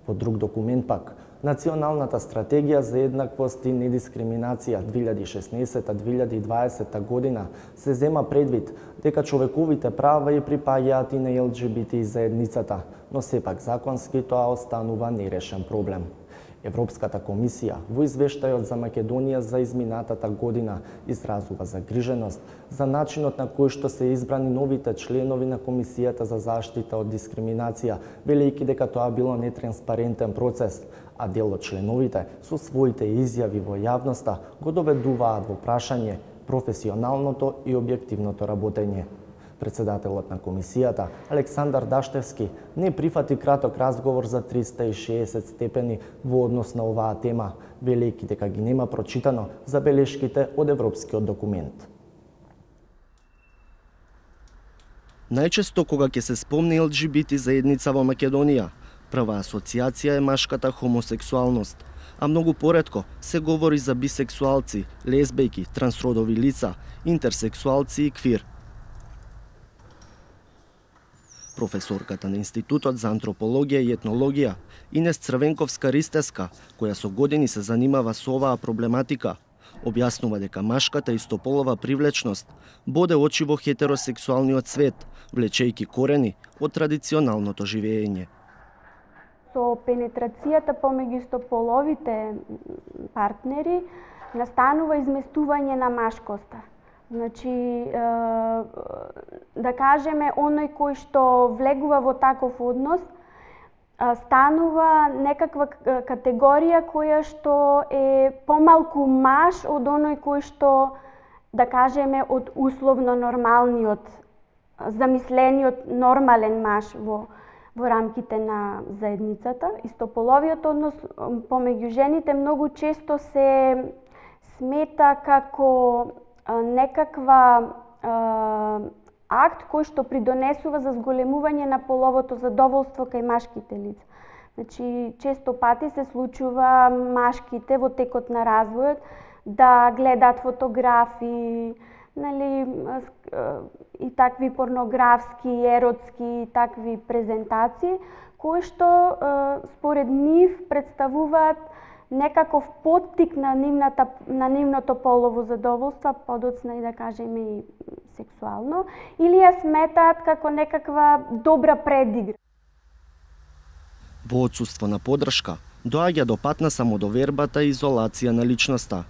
[SPEAKER 13] Во друг документ пак, Националната стратегија за еднаквост и недискриминација две илјади и шеснаесетта до две илјади и дваесетта година се зема предвид дека човековите права и припаѓаат и на Ел Џи Би Ти заедницата, но сепак законски тоа останува нерешен проблем. Европската комисија во извештајот за Македонија за изминатата година изразува загриженост за начинот на кој што се избрани новите членови на Комисијата за заштита од дискриминација, велејќи дека тоа било нетранспарентен процес, а дел од членовите со своите изјави во јавноста го доведуваат во прашање професионалното и објективното работење. Председателот на комисијата, Александар Даштевски, не прифати краток разговор за триста и шеесет степени во однос на оваа тема, велејќи дека ги нема прочитано забелешките од европскиот документ. Најчесто кога ќе се спомне Ел Џи Би Ти заедница во Македонија, прва асоциација е машката хомосексуалност, а многу поретко се говори за бисексуалци, лесбејки, трансродови лица, интерсексуалци и квир. Професорката на Институтот за антропологија и етнологија, Инес Црвенковска-Ристеска, која со години се занимава со оваа проблематика, објаснува дека машката истополова привлечност боде очи во хетеросексуалниот свет, влечејќи корени од традиционалното живење.
[SPEAKER 15] Со пенетрацијата помеѓу истополовите партнери настанува изместување на машкоста. Значи, да кажеме, оној кој што влегува во таков однос, станува некаква категорија која што е помалку маж од оној кој што, да кажеме, од условно нормалниот, замислениот нормален маж во, во рамките на заедницата. Истополовиот однос помеѓу жените многу често се смета како некаква а, акт кој што придонесува за зголемување на половото задоволство кај машките лица. Значи, често пати се случува машките во текот на развојот да гледаат фотографии, нели, и такви порнографски, еротски, такви презентации, кои што според нив представуваат некаков поттик на нивната на нивното полово задоволство, подоцна и да кажеме и сексуално, или ја сметаат како некаква добра предигра.
[SPEAKER 13] Во отсуство на поддршка, доаѓа до пат на самодовербата и изолација на личноста.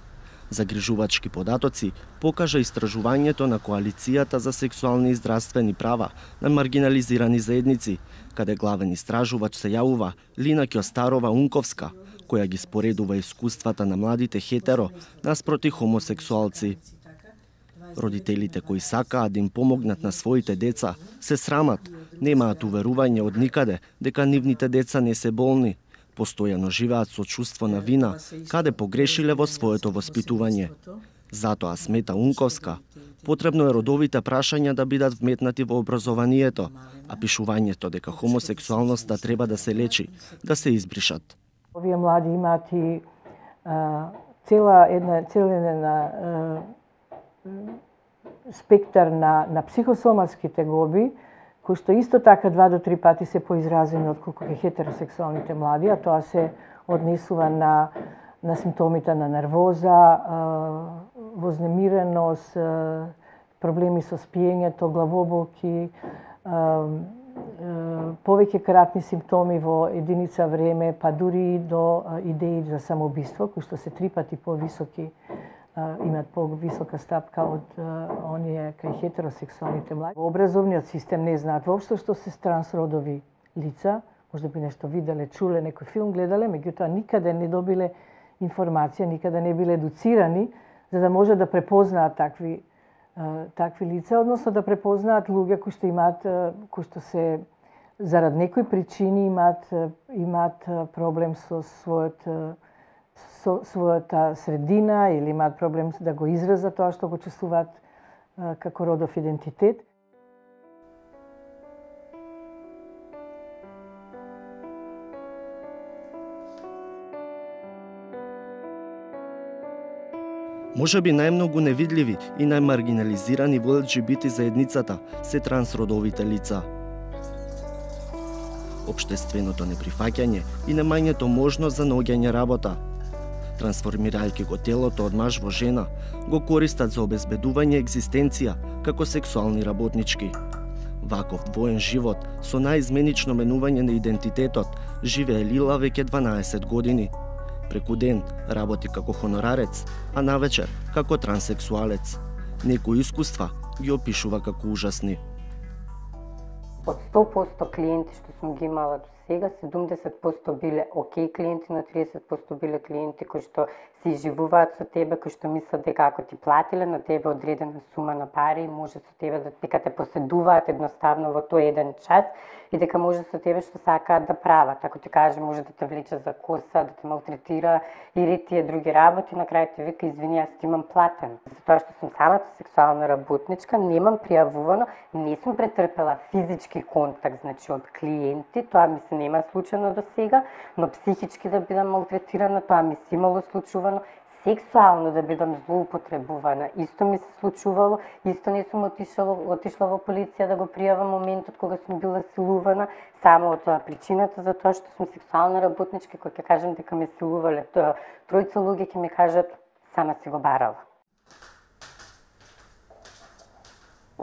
[SPEAKER 13] Загрижувачки податоци покажа истражувањето на Коалицијата за сексуални и здравствени права на маргинализирани заедници, каде главен истражувач се јавува Лина Кјостарова-Унковска, која ги споредува искуствата на младите хетеро наспроти хомосексуалци. Родителите кои сакаат да им помогнат на своите деца се срамат, немаат уверување од никаде дека нивните деца не се болни, постојано живеат со чувство на вина, каде погрешиле во своето воспитување. Затоа, смета Унковска, потребно е родовите прашања да бидат вметнати во образованието, а пишувањето дека хомосексуалноста треба да се лечи, да се избришат.
[SPEAKER 16] Овие млади имаат и а, цела една цела една спектар на на психосоматски тегоби, кои што исто така два до три пати се поизразени отколку кај хетеросексуалните млади, а тоа се однесува на на симптомите на нервоза, вознемиреност, проблеми со спиењето, главоболки, повеќе кратни симптоми во единица време, па дури до идеи за самоубиство, кои што се три пати повисоки, имаат повисока стапка од оние кај хетеросексуалните млади. Во образовниот систем не знаат воопшто што се трансродови лица, може би нешто виделе, чуле, некој филм гледале, меѓутоа никаде не добиле информација, никаде не биле едуцирани за да може да препознаат такви такви лица, односно да препознаат луѓе кои што имаат кои што се зарад некои причини имаат имаат проблем со својот со својата средина или имаат проблем да го изразат тоа што го чувствуваат како родов идентитет.
[SPEAKER 13] Може би најмногу невидливи и најмаргинализирани во Ел Џи Би Ти заедницата се трансродовите лица. Општественото неприфаќање и немањето можност за наоѓање работа, трансформирајќи го телото од маж во жена, го користат за обезбедување екзистенција како сексуални работнички. Ваков двоен живот со најизменично менување на идентитетот живее Лила веќе дванаесет години. Преку ден работи како хонорарец, а навечер како транссексуалец. Некои искуства ги опишува како ужасни.
[SPEAKER 5] Од сто проценти клиенти што сум ги имала до сега, седумдесет проценти биле окей клиенти, но тридесет проценти биле клиенти кои што се изживуваат со тебе, кои што мислат дека ако ти платиле на тебе одредена сума на пари, може со тебе да дека те поседуваат едноставно во тој еден час и дека може со тебе што сакаат да прават. Ако ти каже може да те влече за коса, да те малтретира или тие други работи, на крај ти вика извини, јас ти имам платен. Затоа што сум самата сексуална работничка, немам пријавувано, не сум претрпела физички контакт, значи од клиенти, тоа ми се нема случено до сега, но психички да бидам малтретирана, тоа ми се имало случувано, сексуално да бидам злоупотребувана, исто ми се случувало, исто не сум отишла, отишла во полиција да го пријавам моментот кога сум била силувана, само од тоа причината за тоа што сум сексуална работничка, кога ќе кажам дека ме силувале, тоа тројца луѓе ќе ми кажат сама си го барала.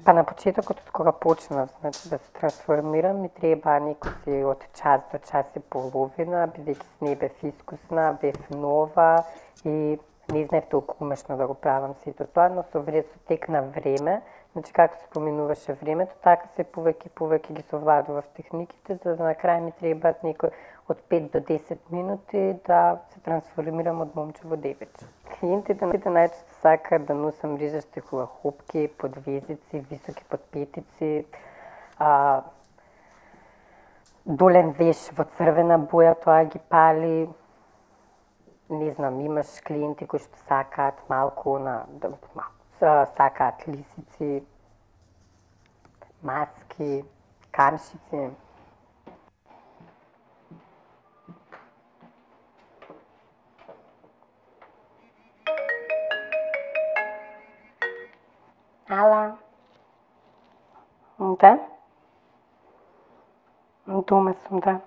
[SPEAKER 5] Па на почетокот од кога почнав, значи да се трансформирам, ми треба некои од час до час и половина, бидејќи не бев искусна, бев нова и не знаев толку умешно да го правам сето тоа, но со време со тек на време, значи како се поминуваше времето, така се повеќе и повеќе ги совладував техниките, за да на крај ми требаат некои од пет до десет минути да се трансформирам од момче во девече. Клиентите најчесто сакаат да носам рижащи хулахопки, подвезици, високи подпетици, а, долен веш во црвена боја, тоа ги пали. Не знам, имаш клиенти кои што сакаат малку на сакаат лисици, маски, камшици. Ала? Да? Дома сум, да.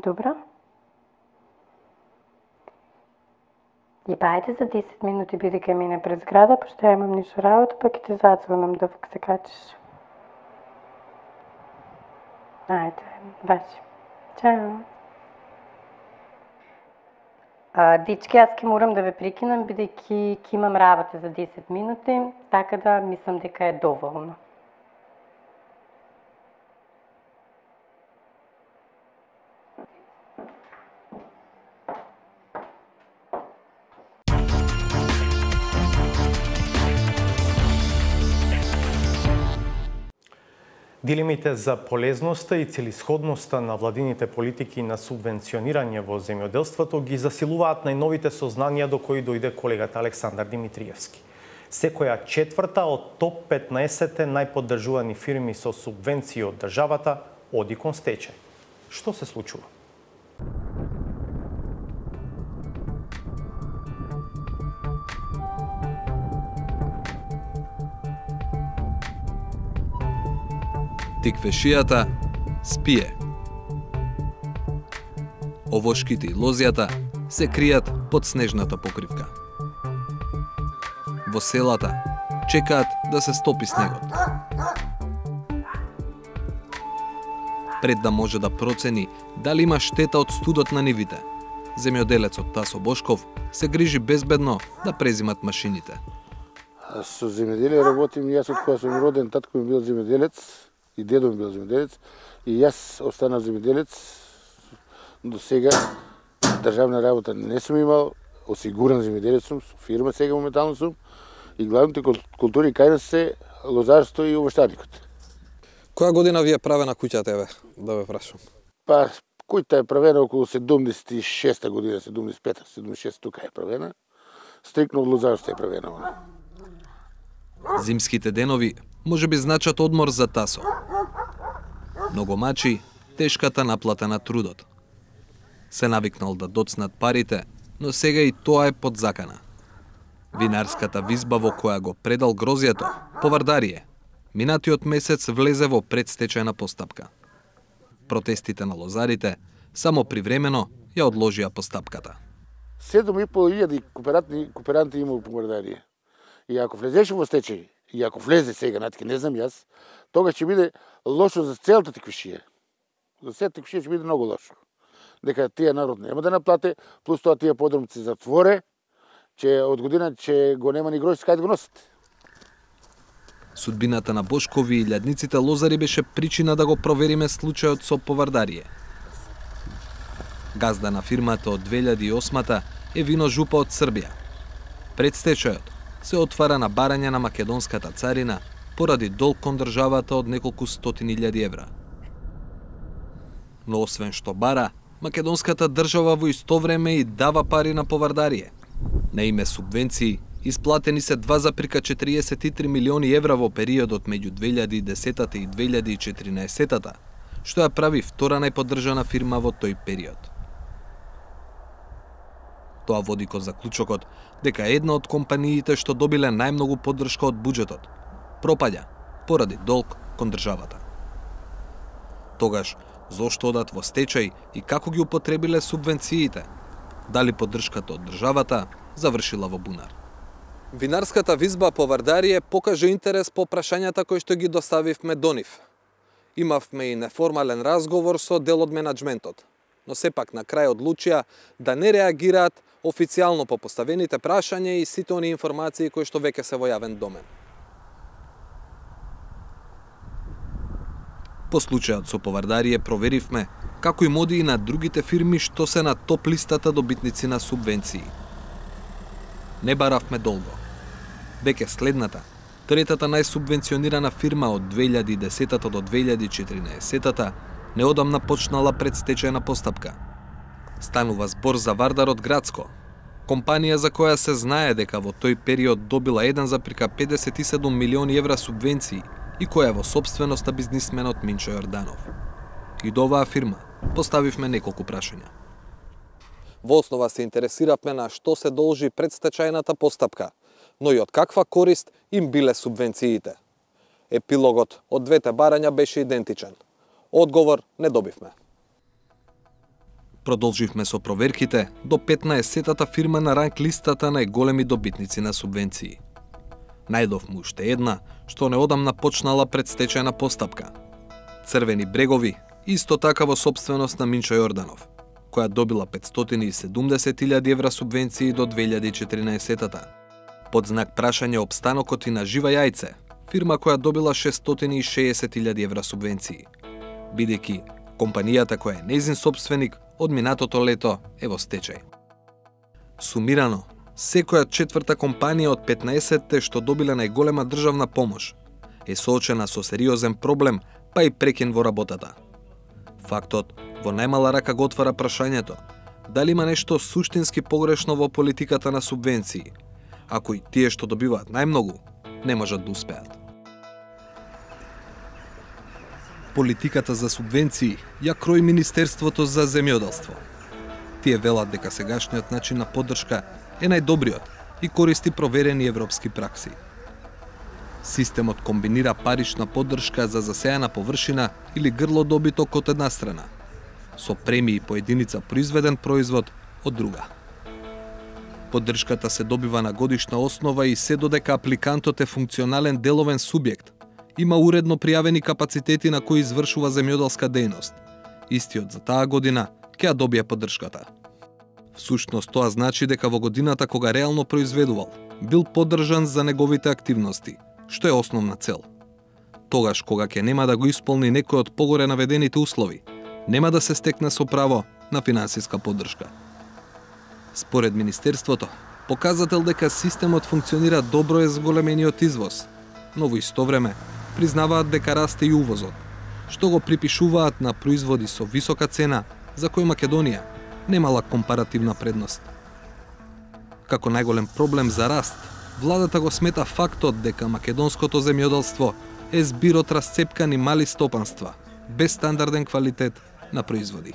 [SPEAKER 5] Добро. И бајде за десет минути биде кај мене пред зграда, пошто ја имам ништо работа, па ќе ти зазвонам да се качиш. Ајде, баш. Чао. А, дечки, јас ќе морам да ве прекинам, бидејќи ќе имам работа за десет минути, така да мислам дека е доволно.
[SPEAKER 1] Дилемите за полезноста и целисходноста на владините политики на субвенционирање во земјоделството ги засилуваат најновите сознанија до кои дојде колегата Александар Димитриевски. Секоја четврта од топ петнаесет најподдржувани фирми со субвенции од државата оди кон стечај. Што се случува?
[SPEAKER 12] Тиквешијата спие. Овошките и лозјата се кријат под снежната покривка. Во селата чекаат да се стопи снегот. Пред да може да процени дали има штета од студот на нивите, земјоделецот Тасо Бошков се грижи безбедно да презимат машините.
[SPEAKER 17] Со земјоделие работим јас од кога сум роден, татко ми бил земјоделец и дедо ми бил земјоделец и јас останав земјоделец. До сега државна работа не сум имал, осигуран земјоделец сум, со фирма сега моментално сум и главните култури кај нас се лозарство и овоштарникот.
[SPEAKER 12] Која година ви е правена куќата, еве, да ве прашам?
[SPEAKER 17] Па, куќата е правена околу седумдесет и шеста година, седумдесет и пета, седумдесет и шеста тука е правена. Стрикно од лозарство е правена она.
[SPEAKER 12] Зимските денови може би значат одмор за Тасо. Многу мачи тешката наплата на трудот. Се навикнал да доцнат парите но сега и тоа е под закана. Винарската визба во која го предал грозјето, Повардарие, минатиот месец влезе во предстечајна постапка. Протестите на лозарите само привремено ја одложија постапката.
[SPEAKER 17] седум и пол илјади кооперанти, кооперанти има во Повардарие. И ако влезеше во стечај, и ако влезе сега, натки не знам јас, тога ќе биде лошо за целата теквишија. За сета теквишија ќе биде многу лошо. Дека тие народ нема да наплате, плюс тоа тие подромци затворе, че од година че го нема ни грош кај да го носат.
[SPEAKER 12] Судбината на Бошкови и илјадниците лозари беше причина да го провериме случајот со Повардарие. Газда на фирмата од две илјади и осма е Вино Жупа од Србија. Предстечајот се отвара на барање на македонската царина поради долг кон државата од неколку стотини илјади евра. Но освен што бара, македонската држава во исто време и дава пари на Повардарие. На име субвенции исплатени се два запирка четириесет и три милиони евра во периодот меѓу две илјади и десета и две илјади и четиринаесета, што ја прави втора најподдржана фирма во тој период. Тоа води кон заклучокот дека една од компаниите што добиле најмногу поддршка од буџетот пропаѓа поради долг кон државата. Тогаш, зошто одат во стечај и како ги употребиле субвенциите? Дали поддршката од државата завршила во бунар? Винарската визба Повардарие покажа интерес по прашањата кои што ги доставивме до нив. Имавме и неформален разговор со дел од менаџментот, но сепак на крај одлучија да не реагираат официјално по поставените прашања и сите они информации кои што веќе се во јавен домен. По случајот со Повардарие проверивме како и моди и на другите фирми што се на топ листата добитници на субвенции. Не баравме долго. Веќе следната, третата најсубвенционирана фирма од две илјади и десета до две илјади и четиринаесета неодамна почнала предстечајна постапка. Станува збор за Вардарот Градско, компанија за која се знае дека во тој период добила еден запирка педесет и седум милиони евра субвенции и која е во собственост на бизнисменот Минчо Јорданов. И до оваа фирма поставивме неколку прашања. Во основа се интересиравме на што се должи предстечајната постапка, но и од каква корист им биле субвенциите. Епилогот од двете барања беше идентичен. Одговор не добивме. Продолживме со проверките до петнаесеттата фирма на ранг листата најголеми добитници на субвенции. Најдовме уште една, што неодамна почнала предстечајна постапка. Црвени брегови, исто така во собственост на Минчо Јорданов, која добила петстотини и седумдесет илјади евра субвенции до две илјади и четиринаесета. Под знак прашање опстанокот и на Жива Јајце, фирма која добила шестстотини и шеесет илјади евра субвенции, бидејќи компанијата која е нејзин собственик од минатото лето е во стечај. Сумирано, секоја четврта компанија од петнаесетте што добиле најголема државна помош е соочена со сериозен проблем, па и прекин во работата. Фактот во најмала рака го отвара прашањето дали има нешто суштински погрешно во политиката на субвенции, ако и тие што добиваат најмногу не можат да успеат. Политиката за субвенции ја крои Министерството за земјоделство. Тие велат дека сегашниот начин на поддршка е најдобриот и користи проверени европски пракси. Системот комбинира парична поддршка за засејана површина или грло добиток од една страна, со премии по единица произведен производ од друга. Поддршката се добива на годишна основа и се додека апликантот е функционален деловен субјект, има уредно пријавени капацитети на кои извршува земјоделска дејност. Истиот за таа година ќе ја добие поддршката. Всушност тоа значи дека во годината кога реално произведувал, бил поддржан за неговите активности, што е основна цел. Тогаш кога ќе нема да го исполни некој од погоре наведените услови, нема да се стекне со право на финансиска поддршка. Според Министерството, показател дека системот функционира добро е зголемениот извоз, но во исто време признаваат дека расте и увозот, што го припишуваат на производи со висока цена за кои Македонија немала компаративна предност. Како најголем проблем за раст, владата го смета фактот дека македонското земјоделство е збир од расцепкани мали стопанства, без стандарден квалитет на производи.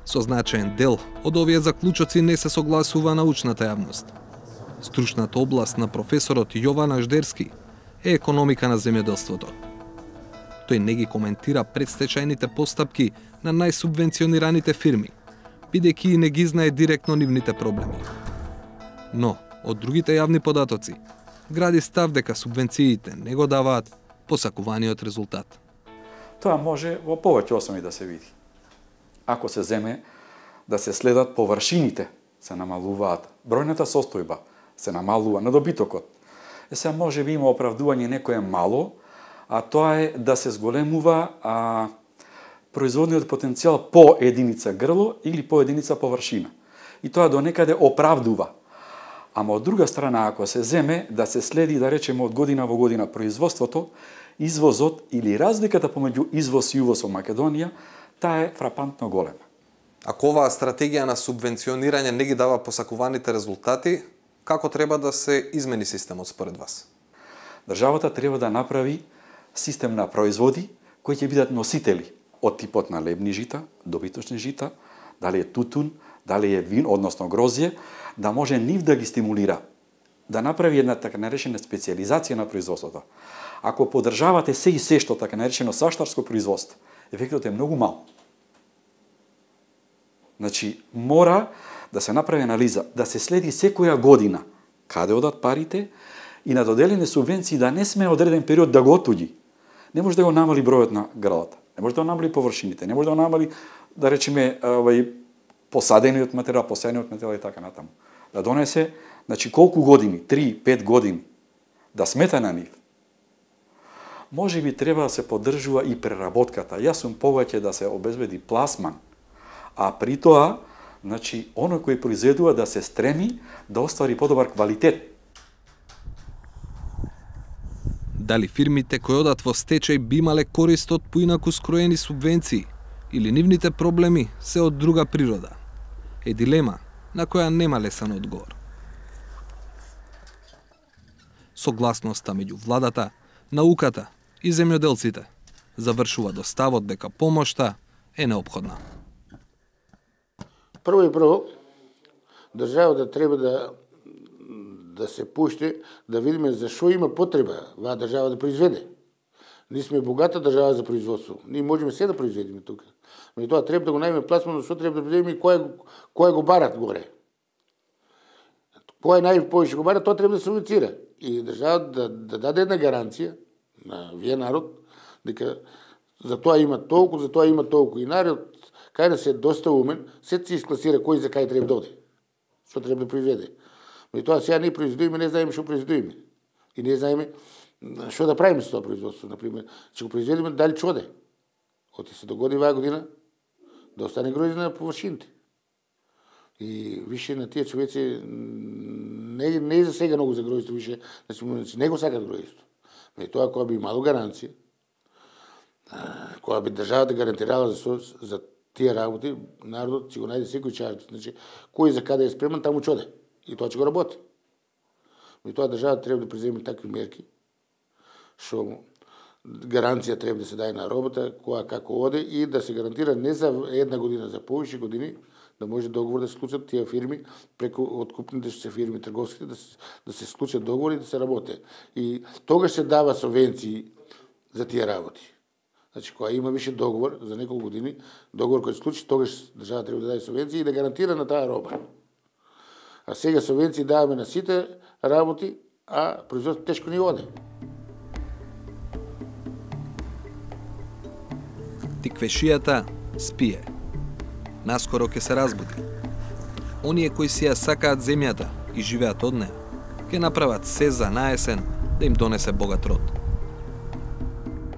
[SPEAKER 12] Со значаен дел од овие заклучоци не се согласува научната јавност. Стручната област на професорот Јован Аждерски е економика на земјоделството. Тој не ги коментира предстечајните постапки на најсубвенционираните фирми, бидејќи не ги знае директно нивните проблеми. Но, од другите јавни податоци, гради став дека субвенциите не го даваат посакуваниот резултат.
[SPEAKER 7] Тоа може во повеќе основи да се види. Ако се земе да се следат површините, се намалуваат бројната состојба, се намалува надобитокот. Е се може би има оправдување некое мало, а тоа е да се зголемува а, производниот потенцијал по единица грло или по единица површина. И тоа до некаде оправдува. Ама од друга страна, ако се земе да се следи, да речеме, од година во година производството, извозот или разликата помеѓу извоз и увоз во Македонија, таа е фрапантно голема.
[SPEAKER 12] Ако оваа стратегија на субвенционирање не ги дава посакуваните резултати, како треба да се измени системот според вас?
[SPEAKER 7] Државата треба да направи систем на производи кои ќе бидат носители од типот на лебни жита, добиточни жита, дали е тутун, дали е вин, односно грозје, да може нив да ги стимулира, да направи една така наречена специализација на производството. Ако поддржавате се и се што така наречено саштарско производство, ефектот е многу мал. Значи, мора да се направи анализа, да се следи секоја година каде одат парите и на доделени субвенции да не сме одреден период да го отуѓи. Не може да го намали бројот на гралата, не може да го намали површините, не може да го намали, да речеме, овај посадениот материјал, посејниот материјал и така натаму. Да донесе, значи колку години, три пет години, да смета на нив. Може би треба да се поддржува и преработката. Јас сум повеќе да се обезбеди пласман, а при тоа, значи, оној кој произведува да се стреми да оствари подобар квалитет.
[SPEAKER 12] Дали фирмите кои одат во стечај би имале корист од поинаку скроени субвенции или нивните проблеми се од друга природа? Е дилема на која нема лесен одговор. Согласноста меѓу владата, науката и земјоделците завршува до ставот дека помошта е неопходна.
[SPEAKER 17] Прво и прво, државата треба да да се пушти, да видиме зашо има потреба ваа држава да произведе. Ние сме богата држава за производство. Ние можеме се да произведеме тука. Но и тоа треба да го најме пласмано, што треба да произведеме и кој кој го барат горе. Кој најповеќе го барат, тоа треба да се субвенцира. И државата да, да даде една гаранција на вие народ, дека за тоа има толку, за тоа има толку. И народ, кај да се доста умен, се се искласира кој за кај треба да оди. Што треба да произведе. Но и тоа сега не произведуваме, не знаеме што произведуваме. И не знаеме што да правиме со тоа производство. Например, ќе го произведеме дали ќе оде. Оти се догоди оваа година да остане гроздје на површините. И више на тие човеци не, не за сега многу за гроздјето, више значи, не го сакат гроздјето. Но и тоа кога би имало гаранција, кога би државата гарантирала за, за тие работи, народот ќе го најде секој чарт. Значи, кој за каде е спремен, таму ќе оде. И тоа ќе го работи. И тоа државата треба да преземе такви мерки, што гаранција треба да се даде на работа, која како оде и да се гарантира не за една година, за повеќе години, да може договор да се склучат тие фирми преку откупните се фирми трговските да се, да се склучат договори и да се работи. И тогаш се дава субвенции за тие работи. Значи, кога има више договор за неколку години, договор кој се случи, тогаш држава треба да даде субвенции и да гарантира на таа роба. А сега субвенции даваме на сите работи, а производството тешко ни оде.
[SPEAKER 12] Тиквешијата спие. Наскоро ќе се разбуди. Оние кои си ја сакаат земјата и живеат од неа, ќе направат се за наесен да им донесе богат род.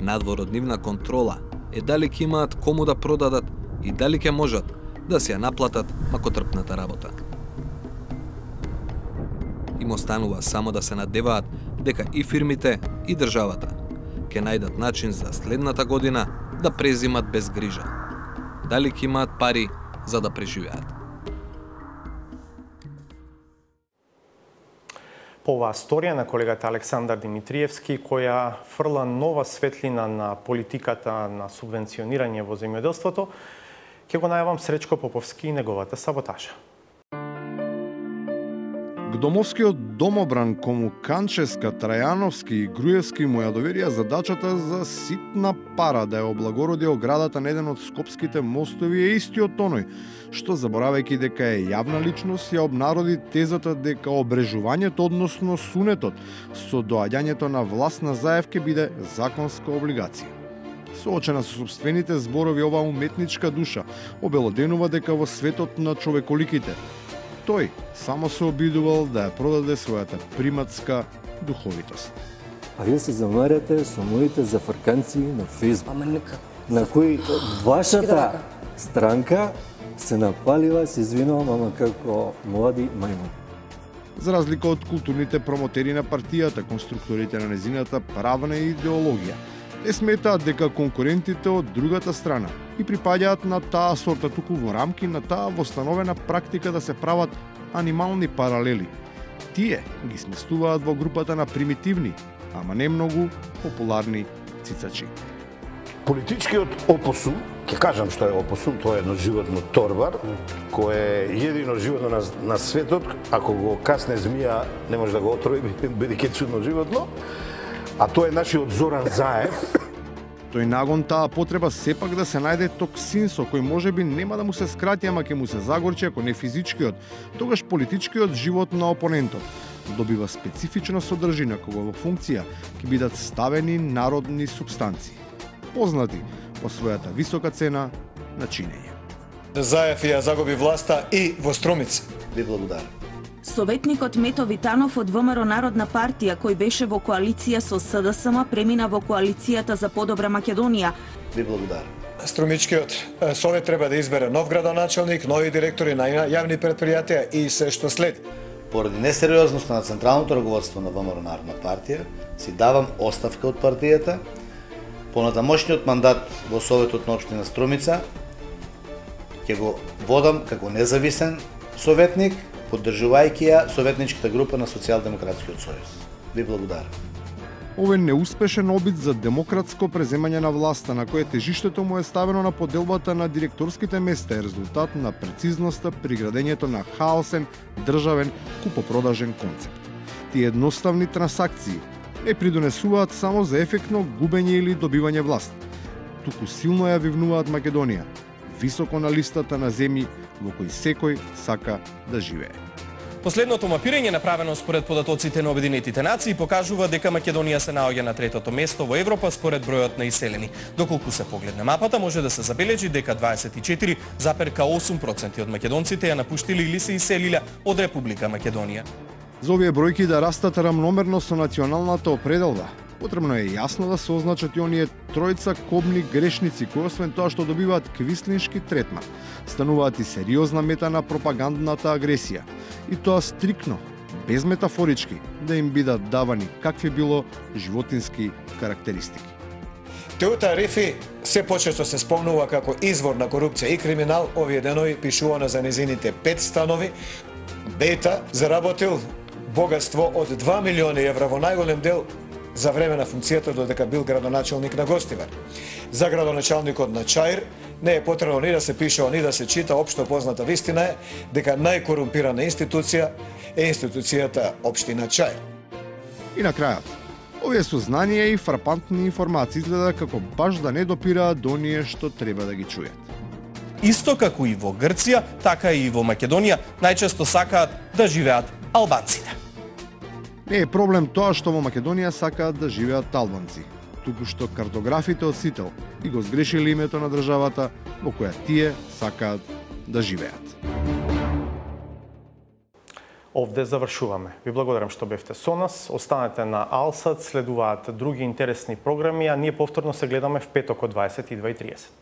[SPEAKER 12] Надвор од нивна контрола е дали ќе имаат кому да продадат и дали ќе можат да си ја наплатат макотрпната работа. Им останува само да се надеваат дека и фирмите и државата ќе најдат начин за следната година да презимат без грижа. Дали ќе имаат пари за да преживеат.
[SPEAKER 1] По оваа сторија на колегата Александар Димитриевски, која фрла нова светлина на политиката на субвенционирање во земјоделството, Ке го најавам Сречко Поповски и неговата саботажа.
[SPEAKER 18] Гдомовскиот домобран кому Канческа, Трајановски и Груевски му ја доверија задачата за ситна пара да ја облагороди оградата на еден од скопските мостови е истиот оној, што заборавајќи дека е јавна личност ја обнароди тезата дека обрежувањето, односно сунетот, со доаѓањето на власт на Заев ке биде законска облигација. Соочена со собствените зборови, оваа уметничка душа обелоденува дека во светот на човеколиките тој само се обидувал да ја продаде својата приматска духовитост.
[SPEAKER 19] А вие се замарате со моите зафрканци на Фейсбук, на кои вашата странка се напалива, се извинувам, ама како млади мајмуни.
[SPEAKER 18] За разлика од културните промотери на партијата, конструкторите на незината правна идеологија не сметаат дека конкурентите од другата страна и припаѓаат на таа сорта, туку во рамки на таа востановена практика да се прават анимални паралели. Тие ги сместуваат во групата на примитивни, ама не многу популарни цицачи.
[SPEAKER 20] Политичкиот опосум, ќе кажам што е опосум, тоа е едно животно торбар, кој е едино животно на, на светот, ако го касне змија не може да го отрови, бидејќи чудно животно, а тоа е нашиот Зоран Заев.
[SPEAKER 18] Тој нагон таа потреба сепак да се најде токсин со кој можеби нема да му се скрати, ама ќе му се загорчи ако не физичкиот, тогаш политичкиот живот на опонентот добива специфична содржина кога во функција ќе бидат ставени народни субстанции, познати по својата висока цена на чинење.
[SPEAKER 21] Заев ја загуби власта и во Струмица.
[SPEAKER 20] Ви благодарам.
[SPEAKER 22] Советникот Мето Витанов од ВМРО Народна партија, кој беше во коалиција со СДСМ, премина во коалицијата за подобра Македонија.
[SPEAKER 20] Ви благодарам.
[SPEAKER 21] Струмичкиот совет треба да избере нов градоначалник, нови директори на јавни предпријатија и се што следи.
[SPEAKER 23] Поради несериозноста на централното раководство на ВМРО Народна партија, си давам оставка од партијата. Понатамошниот мандат во Советот на општина Струмица ќе го водам како независен советник, поддржувајќи ја советничката група на Социјалдемократскиот сојуз. Ви благодарам.
[SPEAKER 18] Овој неуспешен обид за демократско преземање на власта, на кое тежиштето му е ставено на поделбата на директорските места, е резултат на прецизноста при градењето на хаосен, државен, купопродажен концепт. Тие едноставни трансакции не придонесуваат само за ефектно губење или добивање власт, туку силно ја вивнуваат Македонија, високо на листата на земји во кои секој сака да живее.
[SPEAKER 24] Последното мапирање направено според податоците на Обединетите нации покажува дека Македонија се наоѓа на третото место во Европа според бројот на иселени. Доколку се погледне мапата, може да се забележи дека дваесет и четири запирка осум проценти од македонците ја напуштиле или се иселиле од Република Македонија.
[SPEAKER 18] За овие бројки да растат рамномерно со националната определба, потребно е јасно да се означат и оние тројца кобни грешници кои освен тоа што добиваат квислиншки третман, стануваат и сериозна мета на пропагандната агресија. И тоа стрикно, без метафорички, да им бидат давани какви било животински карактеристики.
[SPEAKER 21] Теута Рифи се почесто се спомнува како извор на корупција и криминал. Овие денови пишувано за незините пет станови. Бета заработил богатство од два милиони евра, во најголем дел за време на функцијата додека бил градоначалник на Гостивар. За градоначалникот на Чаир не е потребно ни да се пише, ни да се чита, општо позната вистина е дека најкорумпирана институција е институцијата Општина Чаир.
[SPEAKER 18] И на крајот, овие сознанија и фрапантни информации изгледа како баш да не допираат до оние што треба да ги чујат.
[SPEAKER 24] Исто како и во Грција, така и во Македонија, најчесто сакаат да живеат албанците.
[SPEAKER 18] Не е проблем тоа што во Македонија сакаат да живеат албанци, туку што картографите од Сител и го сгрешили името на државата во која тие сакаат да живеат.
[SPEAKER 1] Овде завршуваме. Ви благодарам што бевте со нас. Останете на Алсат, следуваат други интересни програми, а ние повторно се гледаме в петок од дваесет и два и тридесет.